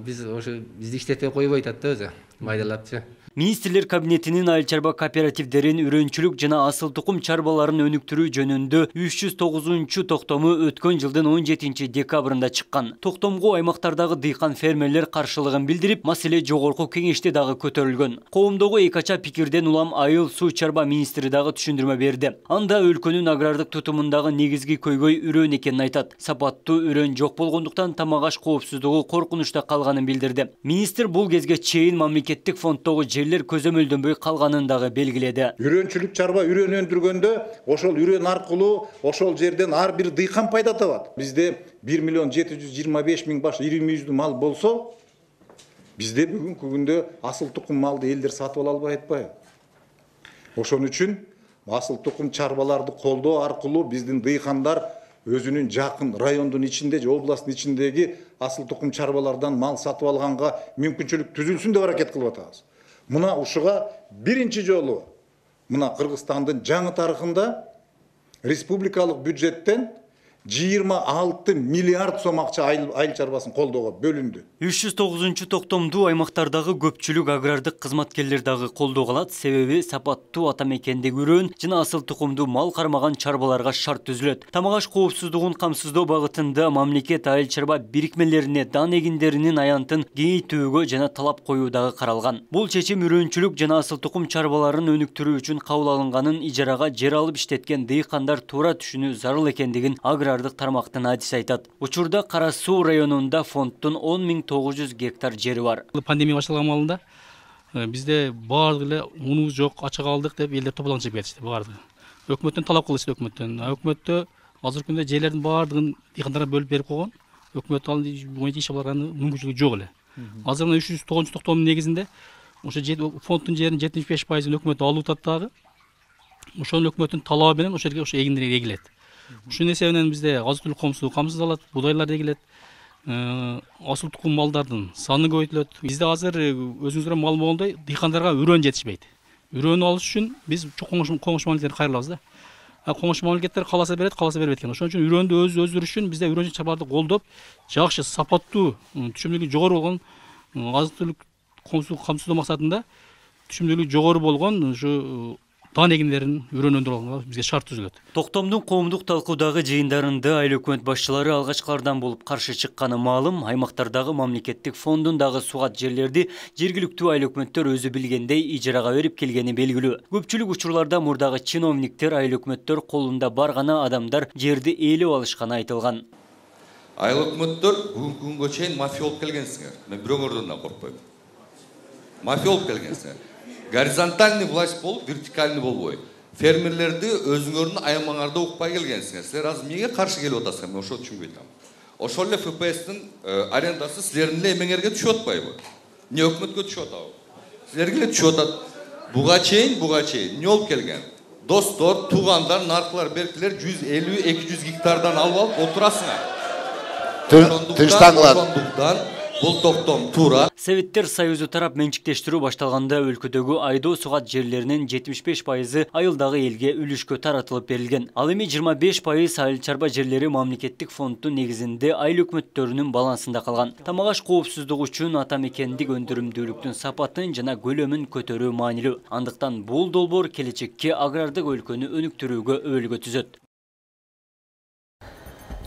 Speaker 4: Биз ошо бизди иштетпей койбой атат да өзү, майдалапчы.
Speaker 1: Министрлер кабинетинин айыл чарба кооперативдерин үрөнчүлүк жана асыл тукум чарбаларын өнүктүрүү жөнүндө 309 токтому өткөн жылдын 17 декабрында чыккан. Токтомго аймактардагы дыйкан фермерлер каршылыгын билдирип, маселе жогорку кеңеште дагы көтөрүлгөн. Коомдогу эки ача пикирден улам айыл суу чарба министри дагы түшүндүрмө берди. Анда өлкөнүн агрардык тутумундагы негизги көйгөй үрөн экенин айтат. Сапаттуу үрөн жок болгондуктан тамак аш коопсуздугу коркунучта калганын билдирди. Министр бул кезге чейин мамлекеттик фонддогу жерлер көзөмөлдөнбөй калганын дагы белгиледи.
Speaker 5: Үрөнчүлүк чарба үрөн өндүргөндө ошол үрөн аркылуу ошол жерден ар бир дыйкан пайда табат. Бизде 1.725.000 баш ири мүйүздүү мал болсо, бизде бүгүнкү күндө асыл тукум малды элдер сатып ала албай атпайбы? Ошон үчүн асыл тукум чарбаларды колдоо аркылуу биздин дыйкандар өзүнүн жакын райондун ичинде же областтын ичиндеги асыл тукум чарбалардан мал сатып алганга мүмкүнчүлүк түзүлсүн деп аракет кылып атабыз. Мына ушуга биринчи жолу мына Кыргызстандын жаңы тарыхында республикалык бюджеттен 26 миллиард сом акча айыл чарбасын колдоого бөлүндү.
Speaker 1: 309 токтомду аймактардагы көпчүлүк агрардык кызматкерлер дагы колдоо алат. Себеби сапаттуу ата мекендеги үрөн жана асыл тукумду мал кармаган чарбаларга шарт түзүлөт. Тамак аш коопсуздугун камсыздоо багытында мамлекет айыл чарба бирикмелерине дан эгиндеринин аянтын кеңейтүүгө жана талап коюу дагы каралган. Бул чечим үрөнчүлүк жана асыл тукум чарбаларын өнүктүрүү үчүн кабыл алынганын, ижарага жер алып иштеткен дыйкандар туура түшүнүү зарыл экендигин агрардык тармактын адиси айтат. Учурда Кара Суу районунда фонддун 10.900 гектар жери бар.
Speaker 6: Пандемия башталган маалында бизде баардык эле унубуз жок, ачык алдык деп элдер тополгон чыгып кетишти баардыгы. Өкмөттөн талап кылышты өкмөттөн. Өкмөттө азыркы күндө жерлердин баардыгын дыйкандарга бөлүп берип койгон. Өкмөт ал боюнча иш алып барган мүмкүнчүлүгү жок эле. Азыр мына 309 токтомдун негизинде ошо фонддун жеринин 75%ын өкмөт алып атат дагы. Ошол өкмөттүн талабы менен ошо жерге ошо эгиндер эгилет. Ушунун эсебинен бизде азык-түлүк коомсуздугу камсыздалат, будайлар эгилет, асыл тукум малдардын саны көбөйтүлөт. Бизде азыр өзүңүздөр маалым болгондой дыйкандарга үрөн жетишпейт. Үрөнү алыш үчүн биз коңшу мамлекеттерди кайрылабыз да. Коңшу мамлекеттер каласа берет, каласа бербейт экен. Ошон үчүн үрөндү өздөрү үчүн бизде үрөн чарбаларды колдоп, жакшы сапаттуу, түшүмдүүлүгү жогору болгон азык-түлүк коомсуздугу камсыздоо максатында түшүмдүүлүгү жогору болгон ушу дан эгиндерин үрөн өндүрүп алганга бизге шарт түзүлөт.
Speaker 1: Токтомдун коомдук талкуудагы жыйындарында айыл өкмөт башчылары алгачкылардан болуп каршы чыкканы маалым. Аймактардагы мамлекеттик фондундагы сугат жерлерди жергиликтүү айыл өкмөттөр өзү билгендей ижарага берип келгени белгилүү. Көпчүлүк учурларда мурдагы чиновниктер айыл өкмөттөр колунда бар гана адамдар жерди ээлеп алышканы айтылган.
Speaker 7: Айыл өкмөттөр бүгүнкү күнгө чейин мафия болуп келгенсиңер. Мен бирөөңөрдөн да коркпойм. Мафия болуп келгенсиңер. Горизонтальный власть болуп, вертикальный болбой. Фермерлерди өзүңөрдүн аймагыңарда укпай келгенсиңер. Силер азыр эмнеге каршы келип атасыңар? Мен ошону түшүнбөй атам. Ошол эле ФПСтин арендасы силердин эле эмеңерге түшүп атпайбы? Не өкмөткө түшүп атабы? Силерге эле түшүп атат. Буга чейин эмне болуп келген? Достор, туугандар, наркылар, беркилер 150-200 гектардан алып отурасыңар. Ошондуктан бул токтом туура.
Speaker 1: Советтер Союзу тарап менчиктештирүү башталганда өлкөдөгү айдоо сугат жерлеринин 75% айылдагы элге үлүшкө таратылып берилген. Ал эми 25% айыл чарба жерлери мамлекеттик фонддун негизинде айыл өкмөттөрүнүн балансында калган. Тамак аш коопсуздугу үчүн ата мекендик өндүрүмдүүлүктүн сапатын жана көлөмүн көтөрүү маанилүү. Андыктан бул долбоор келечекке агрардык өлкөнү өнүктүрүүгө өбөлгө түзөт.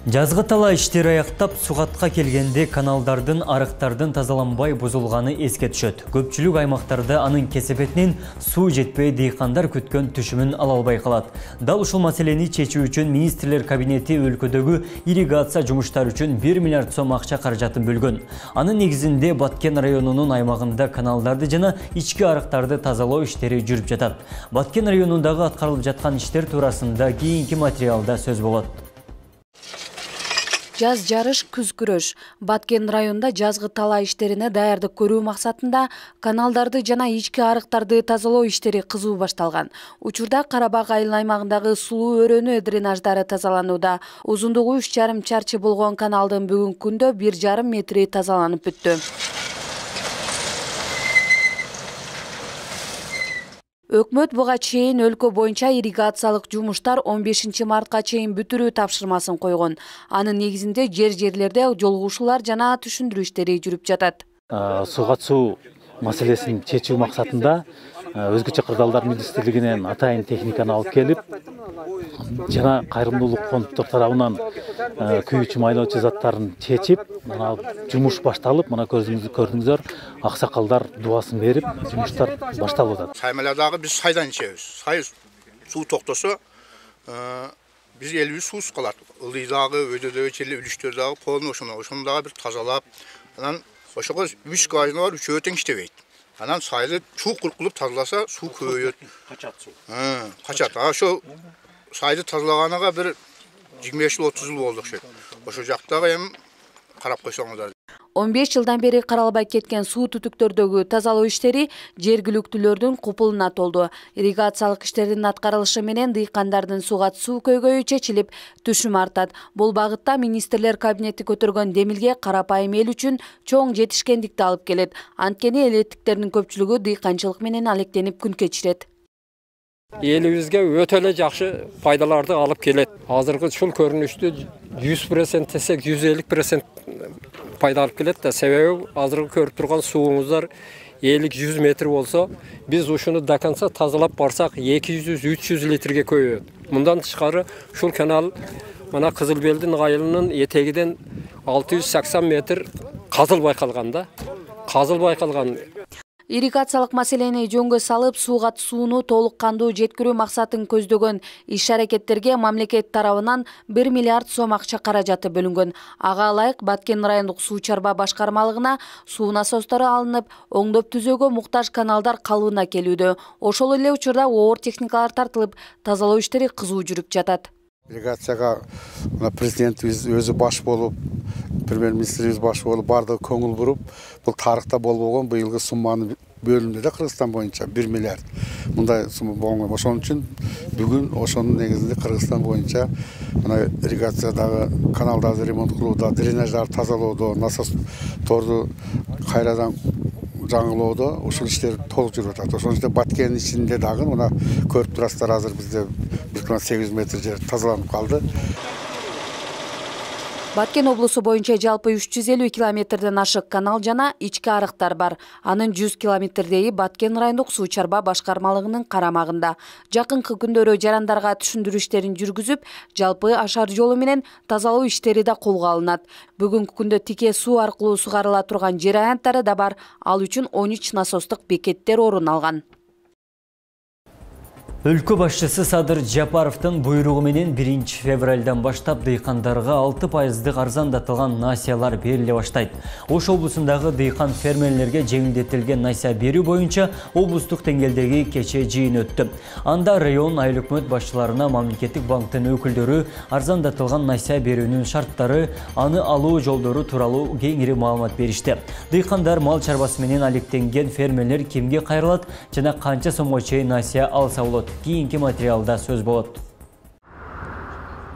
Speaker 1: Жазгы тала иштери аяктап сугатка келгенде каналдардын, арыктардын тазаланбай бузулганы эске түшөт. Көпчүлүк аймактарда анын кесепетинен суу жетпей дыйкандар күткөн түшүмүн ала албай калат. Дал ушул маселени чечүү үчүн министрлер кабинети өлкөдөгү ирригация жумуштары үчүн 1 миллиард сом акча каражатын бөлгөн. Анын негизинде Баткен районунун аймагында каналдарды жана ички арыктарды тазалоо иштери жүрүп жатат. Баткен районундагы аткарылып жаткан иштер туурасында кийинки материалда сөз болот.
Speaker 2: Жаз жарыш, күз күрөш. Баткен районунда жазгы тала иштерине даярдык көрүү максатында каналдарды жана ички арыктарды тазалоо иштери кызуу башталган. Учурда Карабак айыл аймагындагы сулуу өрөөнү дренаждары тазаланууда. Узундугу 3,5 чарчы болгон каналдын бүгүнкү күндө 1,5 метри тазаланып бүттү. Өкмөт буга чейин өлкө боюнча ирригациялык жумуштар 15 мартка чейин бүтүрүү тапшырмасын койгон. Анын негизинде жерлерде жолугушуулар жана түшүндүрүү иштери жүрүп жатат.
Speaker 8: Сугат суу маселесин чечүү максатында өзгөчө кырдаалдар министрлигинен атайын техниканы алып келип, жана кайрымдуулук фонддор тарабынан күйүүчү майлоочу заттарын чечип, мына жумуш башталып, мына көрдүңүздөр, аксакалдар дубасын берип, жумуштар башталып атат.
Speaker 9: Саймаладагы биз сайдан ичебиз. Сай суу токтосо, биз элибиз суусуз калат. Ылдыйдагы, өйдөдөгү черле үлүштөрдөгү полный ошону дагы бир тазалап, анан ошого 3 скважина бар, 3 тең иштебейт. Анан сайды чукур кылып тазаласа, суу көбөйөт. Качат суу. Качат. Ошо сайды тазалаганага бир 25 жыл 30 жыл болду окшойт. Ошо жактагы эми карап койсоңуздар.
Speaker 2: 15 жылдан бери каралбай кеткен суу түтүктөрдөгү тазалоо иштери жергиликтүүлөрдүн купулуна толду. Ирригациялык иштердин аткарылышы менен дыйкандардын суга суу көйгөйү чечилип, түшүм артат. Бул багытта министрлер кабинети көтөргөн демилге карапайым эл үчүн чоң жетишкендикти алып келет. Анткени элеттиктердин көпчүлүгү дыйканчылык менен алектенип күн кечирет.
Speaker 10: Элибизге өтө эле жакшы пайдаларды алып келет. Азыркы ушул көрүнүштү 100% десек 150% пайда алып келет да, себеби азыркы көрүп турган сууңуздар 50-100 метр болсо, биз ушуну до конца тазалап барсак 200-300 литрге көбөйөт. Мындан тышкары ушул канал мына Кызыл Белдин айылынын этегиден 680 метр казыл байкалган да. Казыл байкалган.
Speaker 2: Ирригациялык маселени жөнгө салып, сууга сууну толук кандуу жеткирүү максатын көздөгөн иш-аракеттерге мамлекет тарабынан 1 миллиард сом акча каражаты бөлүнгөн. Ага ылайык Баткен райондук суу чарба башкармалыгына суу насостору алынып, оңдоп түзөөгө муктаж каналдар калыбына келүүдө. Ошол эле учурда оор техникалар тартылып, тазалоо иштери кызуу жүрүп жатат.
Speaker 9: Ирригацияга президентибиз өзү баш болуп, премьер-министрибиз баш болуп, бардыгы көңүл буруп, бул тарыхта болбогон быйылгы сумманы бөлүндү да Кыргызстан боюнча 1 миллиард. Мындай сумма болгон. Ошон үчүн бүгүн ошонун негизинде Кыргызстан боюнча мына ирригациядагы каналдарды ремонт кылууда, дренаждарды тазалоодо, насосторду кайрадан жаңылоодо ушул иштер толук жүрүп атат. Ошон үчүн Баткендин ичинде дагы мына көрүп турасыздар, азыр бизде 1,8 метр жер тазаланып калды.
Speaker 2: Баткен облусу боюнча жалпы 350 километрден ашык канал жана ички арыктар бар. Анын 100 километрдеги Баткен райондук суу чарба башкармалыгынын карамагында. Жакынкы күндөрү жарандарга түшүндүрүү иштерин жүргүзүп, жалпы ашар жолу менен тазалоо иштери да колго алынат. Бүгүнкү күндө тике суу аркылуу сугарыла турган жер аянттары да бар. Ал үчүн 13 насостук бекеттер орун алган.
Speaker 1: Өлкө башчысы Садыр Жапаровдун буйругу менен 1 февралдан баштап дыйкандарга 6% арзандатылган насыялар бериле баштайт. Ош облусундагы дыйкан фермерлерге жеңилдетилген насыя берүү боюнча облустук деңгээлдеги кечээ жыйын өттү. Анда район айыл өкмөт башчыларына мамлекеттик банктын өкүлдөрү арзандатылган насыя берүүнүн шарттары, аны алуу жолдору тууралуу кеңири маалымат беришти. Дыйкандар мал чарбасы менен алектенген фермерлер кимге кайрылат жана канча сомго чейин насыя алса болот? Кийинки материалда сөз болот.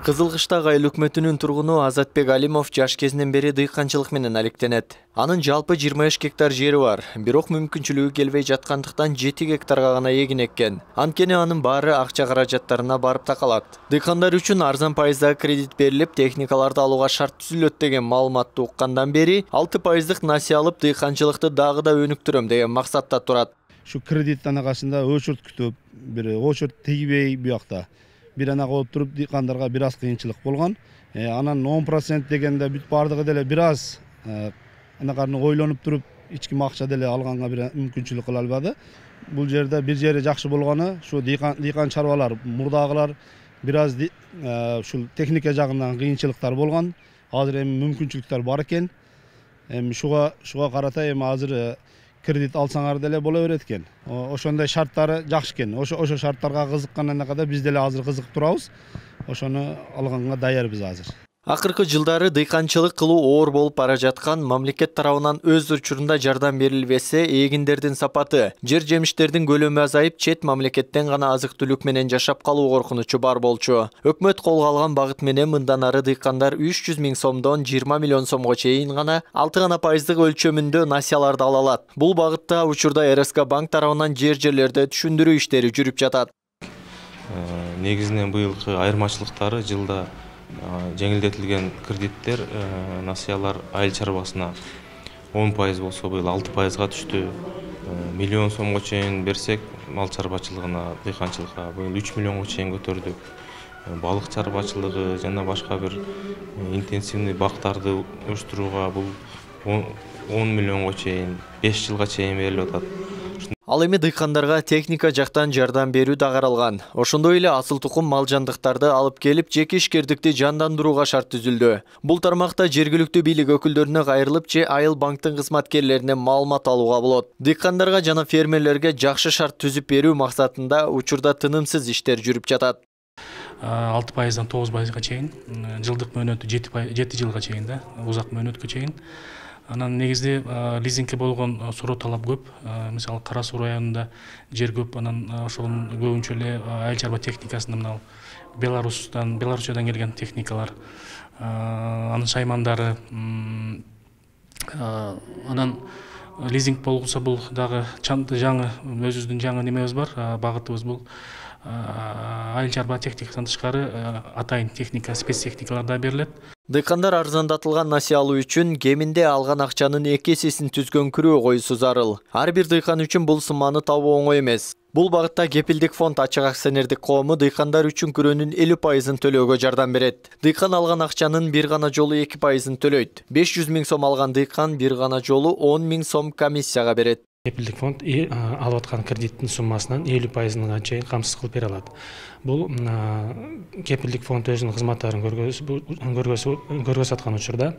Speaker 11: Кызылкыштагы айыл өкмөтүнүн тургуну Азатбек Алимов жаш кезинен бери дыйканчылык менен алектенет. Анын жалпы 23 гектар жери бар, бирок мүмкүнчүлүгү келбей жаткандыктан 7 гектарга гана эгин эккен. Анткени анын баары акча каражаттарына барып такалат. Дыйкандар үчүн арзан пайыздагы кредит берилип, техникаларды алууга шарт түзүлөт деген маалыматты уккандан бери 6%дык насыя алып дыйканчылыкты дагы да өнүктүрөм деген максатта турат.
Speaker 12: Şu kredit anaqasında oçurt kütüp, bir oçurt tegibey bu yoqda. Bir anaqa oturup diqandarga biraz kıyınçılık bolgan. Anan 10% degende büt bardığı dele biraz anaqarını oylanıp turup içki makça dele alğanга bir mümkünçülük kıla albadı. Bu jerde bir jeri jakşı bolgany şu diqan çarbalar, murdagılar biraz şu teknika jagından kıyınçılıklar bolgan. Hazır hem mümkünçülükler bar eken. Hem şuga karata hem hazır kredit alsaňar dele bola berет экен. Ошондой шарттары жакшы экен. Ошо шарттарга кызыккандан када биз деле азыр кызык турабыз. Ошону алганга даярбыз азыр.
Speaker 11: Акыркы жылдары дыйканчылык кылуу оор болуп бара жаткан, мамлекет тарабынан өз учурунда жардам берилбесе, эгиндердин сапаты, жер жемиштердин көлөмү азайып, чет мамлекеттен гана азык-түлүк менен жашап калуу коркунучу бар болчу. Өкмөт колго алган багыт менен мындан ары дыйкандар 300 000 сомдон 20 миллион сомго чейин гана 6% өлчөмүндө насыяларды ала алат. Бул багытта учурда РСК банк тарабынан жерлерде түшүндүрүү иштери жүрүп жатат.
Speaker 13: Негизинен быйылкы айырмачылыктары жылда жеңилдетилген кредиттер, насыялар айыл чарбасына 10% болсо быйыл 6%га түштү. Миллион сомго чейин берсек мал чарбачылыгына, дыйканчылыкка быйыл 3 миллионго чейин көтөрдүк. Балык чарбачылыгы жана башка бир интенсивный бактарды уюштурууга бул 10 миллионго чейин 5 жылга чейин берилип атат.
Speaker 11: Ал эми дыйкандарга техника жактан жардам берүү да каралган. Ошондой эле асыл тукум мал жандыктарды алып келип, жеке ишкердикти жандандырууга шарт түзүлдү. Бул тармакта жергиликтүү бийлик өкүлдөрүнө кайрылып же Айыл банктын кызматкерлерине маалымат алууга болот. Дыйкандарга жана фермерлерге жакшы шарт түзүп берүү максатында учурда тынымсыз иштер жүрүп жатат.
Speaker 6: 6%дан 9%га чейин, жылдык мөөнөтү 7 жылга чейин да, узак мөөнөткө чейин. Анан негизде лизингке болгон суроо талап көп. Мисалы Кара Суу районунда жер көп, анан ошонун көбүнчө эле айыл чарба техникасында мына Беларусиядан келген техникалар, анын шаймандары, анан лизинг болсо бул дагы жаңы өзүбүздүн жаңы немебиз бар, багытыбыз бул айыл чарба техникасынан тышкары атайын техника, спецтехникалар да берилет.
Speaker 11: Дыйкандар арзандатылган насыя алуу үчүн кеминде алган акчанын 2 эсесин түзгөн күрөө коюусу зарыл. Ар бир дыйкан үчүн бул сумманы табуу оңой эмес. Бул багытта Кепилдик фонд ачык акционердик коому дыйкандар үчүн күрөөнүн 50%-ын төлөөгө жардам берет. Дыйкан алган акчанын бир гана жолу 2%-ын төлөйт. 500 000 сом алган дыйкан бир гана жолу 10 000 сом комиссияга берет.
Speaker 14: Кепилдик фонд алып аткан кредиттин суммасынан 50%-га чейин камсыз кылып бере алат. Бул Кепилдик фонд өзүнүн кызматтарын көргөзүп аткан учурда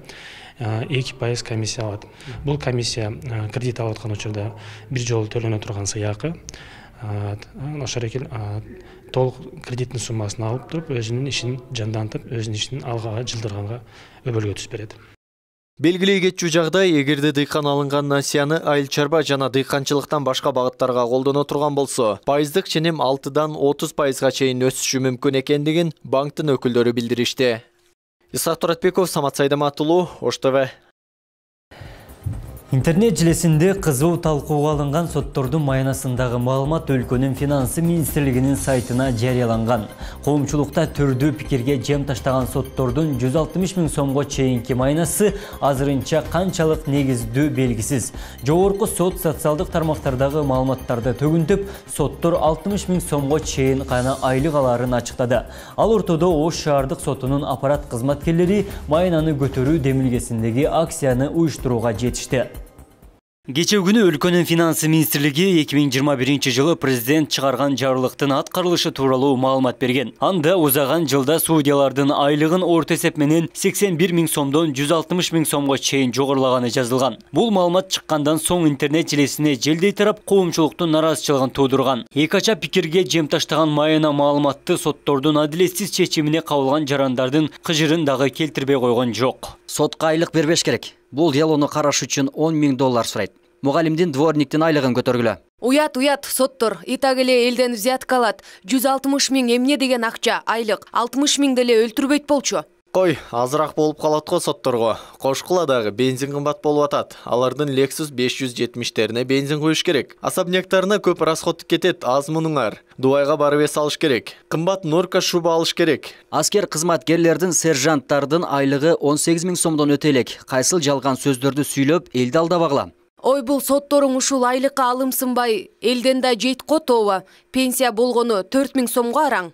Speaker 14: 2% комиссия алат. Бул комиссия кредит алып аткан учурда бир жолу төлөнө турган сыйакы. Ошол эки толук кредиттин суммасын алып туруп, өзүнүн ишин жандантып, өзүнүн ишин алга жылдырганга өбөлгө түзүп берет.
Speaker 11: Белгилей кетчү жагдай, эгерде дыйкан алынган насыяны айыл чарба жана дыйканчылыктан башка багыттарга колдоно турган болсо, пайыздык ченем 6-дан 30%га чейин өсүшү мүмкүн экендигин банктын өкүлдөрү билдиришти. Исак Туратбеков, Самат Сайдаматулуу, Ош ТВ.
Speaker 1: Интернет желесинде кызуу талкууга алынган соттордун маянасындагы маалымат өлкөнүн финансы министрлигинин сайтына жарыяланган. Коомчулукта түрдүү пикирге жем таштаган соттордун 160 000 сомго чейинки маянасы азырынча канчалык негиздүү белгисиз. Жогорку сот социалдык тармактардагы маалыматтарды төгүнтүп, соттор 60 000 сомго чейин гана айлык аларын ачыктады. Ал ортодо Ош шаардык сотунун аппарат кызматкерлери маянаны көтөрүү демилгесиндеги акцияны уюштурууга жетишти. Кечээ күнү өлкөнүн финансы министрлиги 2021 жылы президент чыгарган жарлыктын аткарылышы тууралуу маалымат берген. Анда узаган жылда судьялардын айлыгын орто эсеп менен 81 000 сомдон 160 000 сомго чейин жогорулаганы жазылган. Бул маалымат чыккандан соң интернет желесине желдей тарап коомчулуктун нараазычылыгын туудурган. Эки ача пикирге жем таштаган майына маалыматты соттордун адилетсиз чечимине кабылган жарандардын кыжырын дагы келтирбей койгон жок.
Speaker 15: Сотко айлык бербеш керек. Бул делону караш үчүн 10 000 доллар сурайт. Мугалимдин дворниктин айлыгын көтөргүлө.
Speaker 2: Уят, соттор. Итак эле элден взятка алат. 160 000 эмне деген акча, айлык. 60 000 деле өлтүрбөйт болчу.
Speaker 11: Кой, азыраак болуп калат го сотторго. Кошкула дагы бензин кымбат болуп атат. Алардын Lexus 570-терине бензин куюш керек. Особняктарына көп расход кетет, аз мунуңар. Дубайга барып эс алыш керек. Кымбат норка шуба алыш керек.
Speaker 15: Аскер кызматкерлердин, сержанттардын айлыгы 18 000 сомдон өтө элек. Кайсыл жалган сөздөрдү сүйлөп, элди алдабагыла.
Speaker 2: Ой, бул сотторуң ушул айлыкка алымсынбай, элден да жейт котоба. Пенсия болгону 4 000 сомго араң.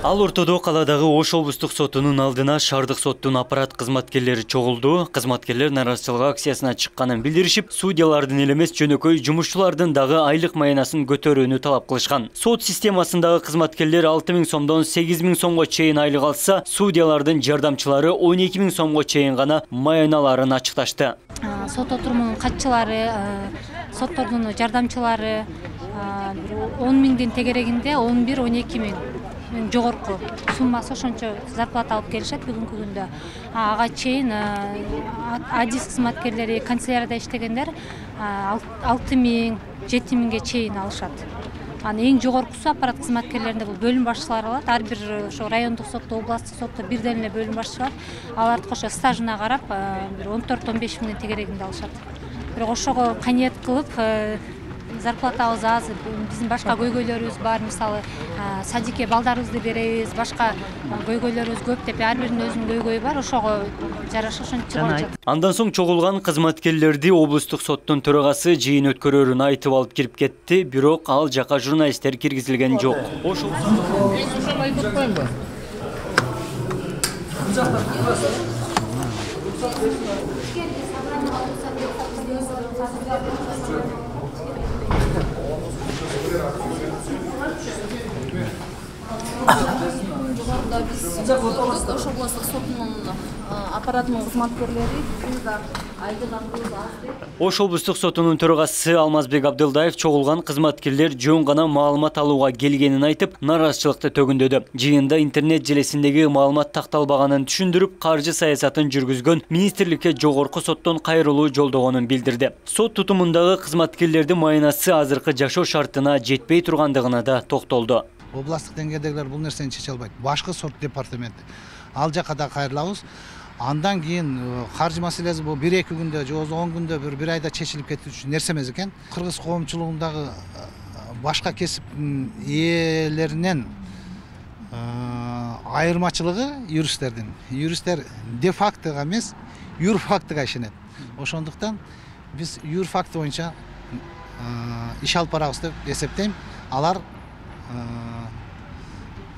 Speaker 1: Ал ортодо каладагы Ош облустук сотунун алдына шаардык соттун аппарат кызматкерлери чогулду. Кызматкерлер нараазычылык акциясына чыкканын билдиришип, судьялардын эле эмес жөнөкөй жумушчулардын дагы айлык маянасын көтөрүүнү талап кылышкан. Сот системасындагы кызматкерлер 6 000 сомдон 8 000 сомго чейин айлык алса, судьялардын жардамчылары 12 000 сомго чейин гана маяналарын ачыкташты.
Speaker 16: Сот отурумунун катчылары, соттордун жардамчылары 10 000дин тегерегинде 11-12 000 жогорку суммасы ошончо зарплата алып келишет бүгүнкү күндө. Ага чейин адис кызматкерлери, канцелярияда иштегендер 6 000, 7 000ге чейин алышат. Эң жогоркусу аппарат кызматкерлеринде бул бөлүм башчылары алат. Ар бир ошо райондук сотто, областтык сотто бирден эле бөлүм башчылар. Аларды кошо стажына карап, бир 14-15 000 тегерегинде алышат. Бирок ошого каниет кылып зарплатабыз аз, биздин башка көйгөйлөрүбүз бар, мисалы садикке балдарыбызды беребиз, башка көйгөйлөрүбүз көп деп ар биринин өзүнүн көйгөйү бар, ошого жараша ошентип жатат.
Speaker 1: Андан соң чогулган кызматкерлерди облустук соттун төрагасы жыйын өткөрөрүн айтып алып кирип кетти, бирок ал жака журналисттер киргизилген жок. Ошол
Speaker 17: Ош областык сотунун аппаратынын кызматкерлери
Speaker 1: Ош облустук сотунун төрагасы Алмазбек Абдылдаев чогулган кызматкерлер жөн гана маалымат алууга келгенин айтып, нааразычылыкты төгүндөдү. Жыйында интернет желесиндеги маалымат такталбаганын түшүндүрүп, каржы саясатын жүргүзгөн министрликке жогорку соттон кайрылуу жолдогонун билдирди. Сот тутумундагы кызматкерлердин майнасы азыркы жашоо шартына жетпей тургандыгына да токтолду.
Speaker 18: Областык деңгээлдегилер бул нерсени чече албайт. Башкы сот департаменти ал жака да кайрылабыз. Андан кийин каржы маселеси бул 1-2 күндө же 10 күндө бир айда чечилип кетүүчү нерсе эмес экен. Кыргыз коомчулугундагы башка кесип ээлеринен айырмачылыгы юристтердин. Юристтер де фактыга эмес, юр фактыга ишенет. Ошондуктан биз юр факты боюнча иш алып барабыз деп эсептейм. Алар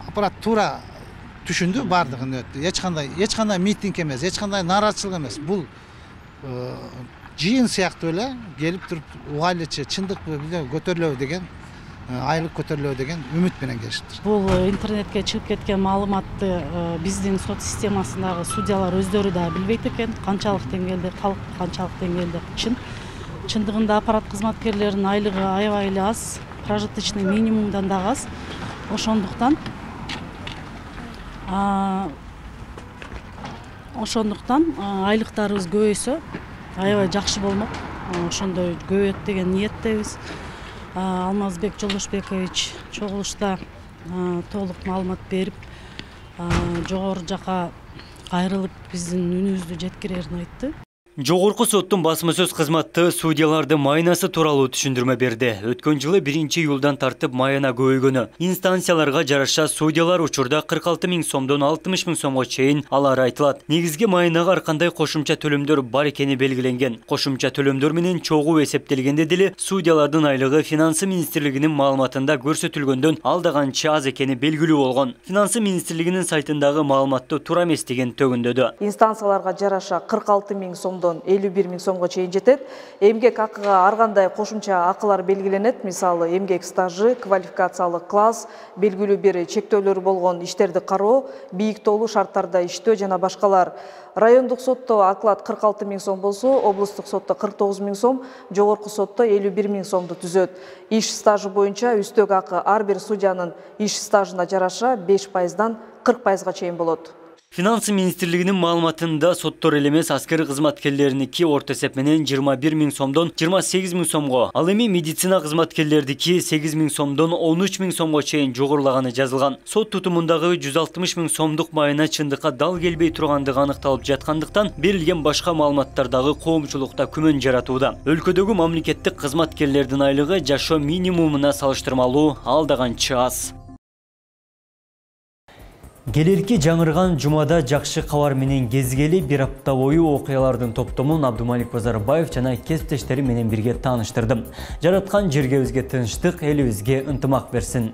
Speaker 18: аппарат туура түшүндү, бардыгын өттү. Эч кандай митинг эмес, эч кандай нааразычылык эмес. Бул жыйын сыяктуу эле келип туруп угайлычы, чындыкпы көтөрүлөбү деген, айлык көтөрүлөбү деген үмүт менен келишиптир.
Speaker 19: Бул интернетке чыгып кеткен маалыматты биздин сот системасындагы судьялар өздөрү да билбейт экен, канчалык деңгээлде калк, канчалык деңгээлде чын. Чындыгында аппарат кызматкерлеринин айлыгы аябай эле аз, прожиточный минимумдан да аз. Ошондуктан айлыктарыбыз көбөйсө аябай жакшы болмок. Ошондой көбөйөт деген ниеттебиз. Алмазбек Жолдошбекович чогулушта толук маалымат берип, жогору жака кайрылып биздин үнүбүздү жеткирерин айтты.
Speaker 1: Жогорку соттун басма сөз кызматы судьяларды майнасы тууралуу түшүндүрмө берди. Өткөн жылы 1-июлдан тартып майына көбөйгөнү. Инстанцияларга жараша судьялар учурда 46 000 сомдон 60 000 сомго чейин алары айтылат. Негизги майынага ар кандай кошумча төлөмдөр бар экени белгиленген. Кошумча төлөмдөр менен чогуу эсептелгенде деле судьялардын айлыгы Финансы министрлигинин маалыматында көрсөтүлгөндөн алда канча аз экени белгилүү болгон. Финансы министрлигинин сайтындагы маалыматты туура эмес деген төгүндөдү.
Speaker 20: Инстанцияларга жараша 46 000 сомдон 51 000 сомго чейин жетет. Эмгек акыга ар кандай кошумча акылар белгиленет. Мисалы, эмгек стажы, квалификациялык класс, белгилүү бир чектөөлөрү болгон иштерди кароо, бийиктоолуу шарттарда иштөө жана башкалар. Райондук сотто оклад 46 000 сом болсо, облустук сотто 49 000 сом, жогорку сотто 51 000 сомду түзөт. Иш стажы боюнча үстөк акы ар бир судьянын иш стажына жараша 5%дан 40%га чейин болот.
Speaker 1: Финансы министрлигинин маалыматында соттор эле эмес аскер кызматкерлериники орто эсеп менен 21 000 сомдон 28 000 сомго, ал эми медицина кызматкерлердики 8 000 сомдон 13 000 сомго чейин жогорулаганы жазылган. Сот тутумундагы 160 000 сомдук майына чындыкка дал келбей тургандыгы аныкталып жаткандыктан берилген башка маалыматтардагы коомчулукта күмөн жаратууда. Өлкөдөгү мамлекеттик кызматкерлердин айлыгы жашоо минимумуна салыштырмалуу алда канча аз. Келерки жаңырган жумада жакшы кабар менен кезгели бир апта бою окуялардын топтомун Абдумалик Базарбаев жана кесиптештери менен бирге тааныштырдым. Жараткан жергебизге тынчтык, элибизге ынтымак берсин.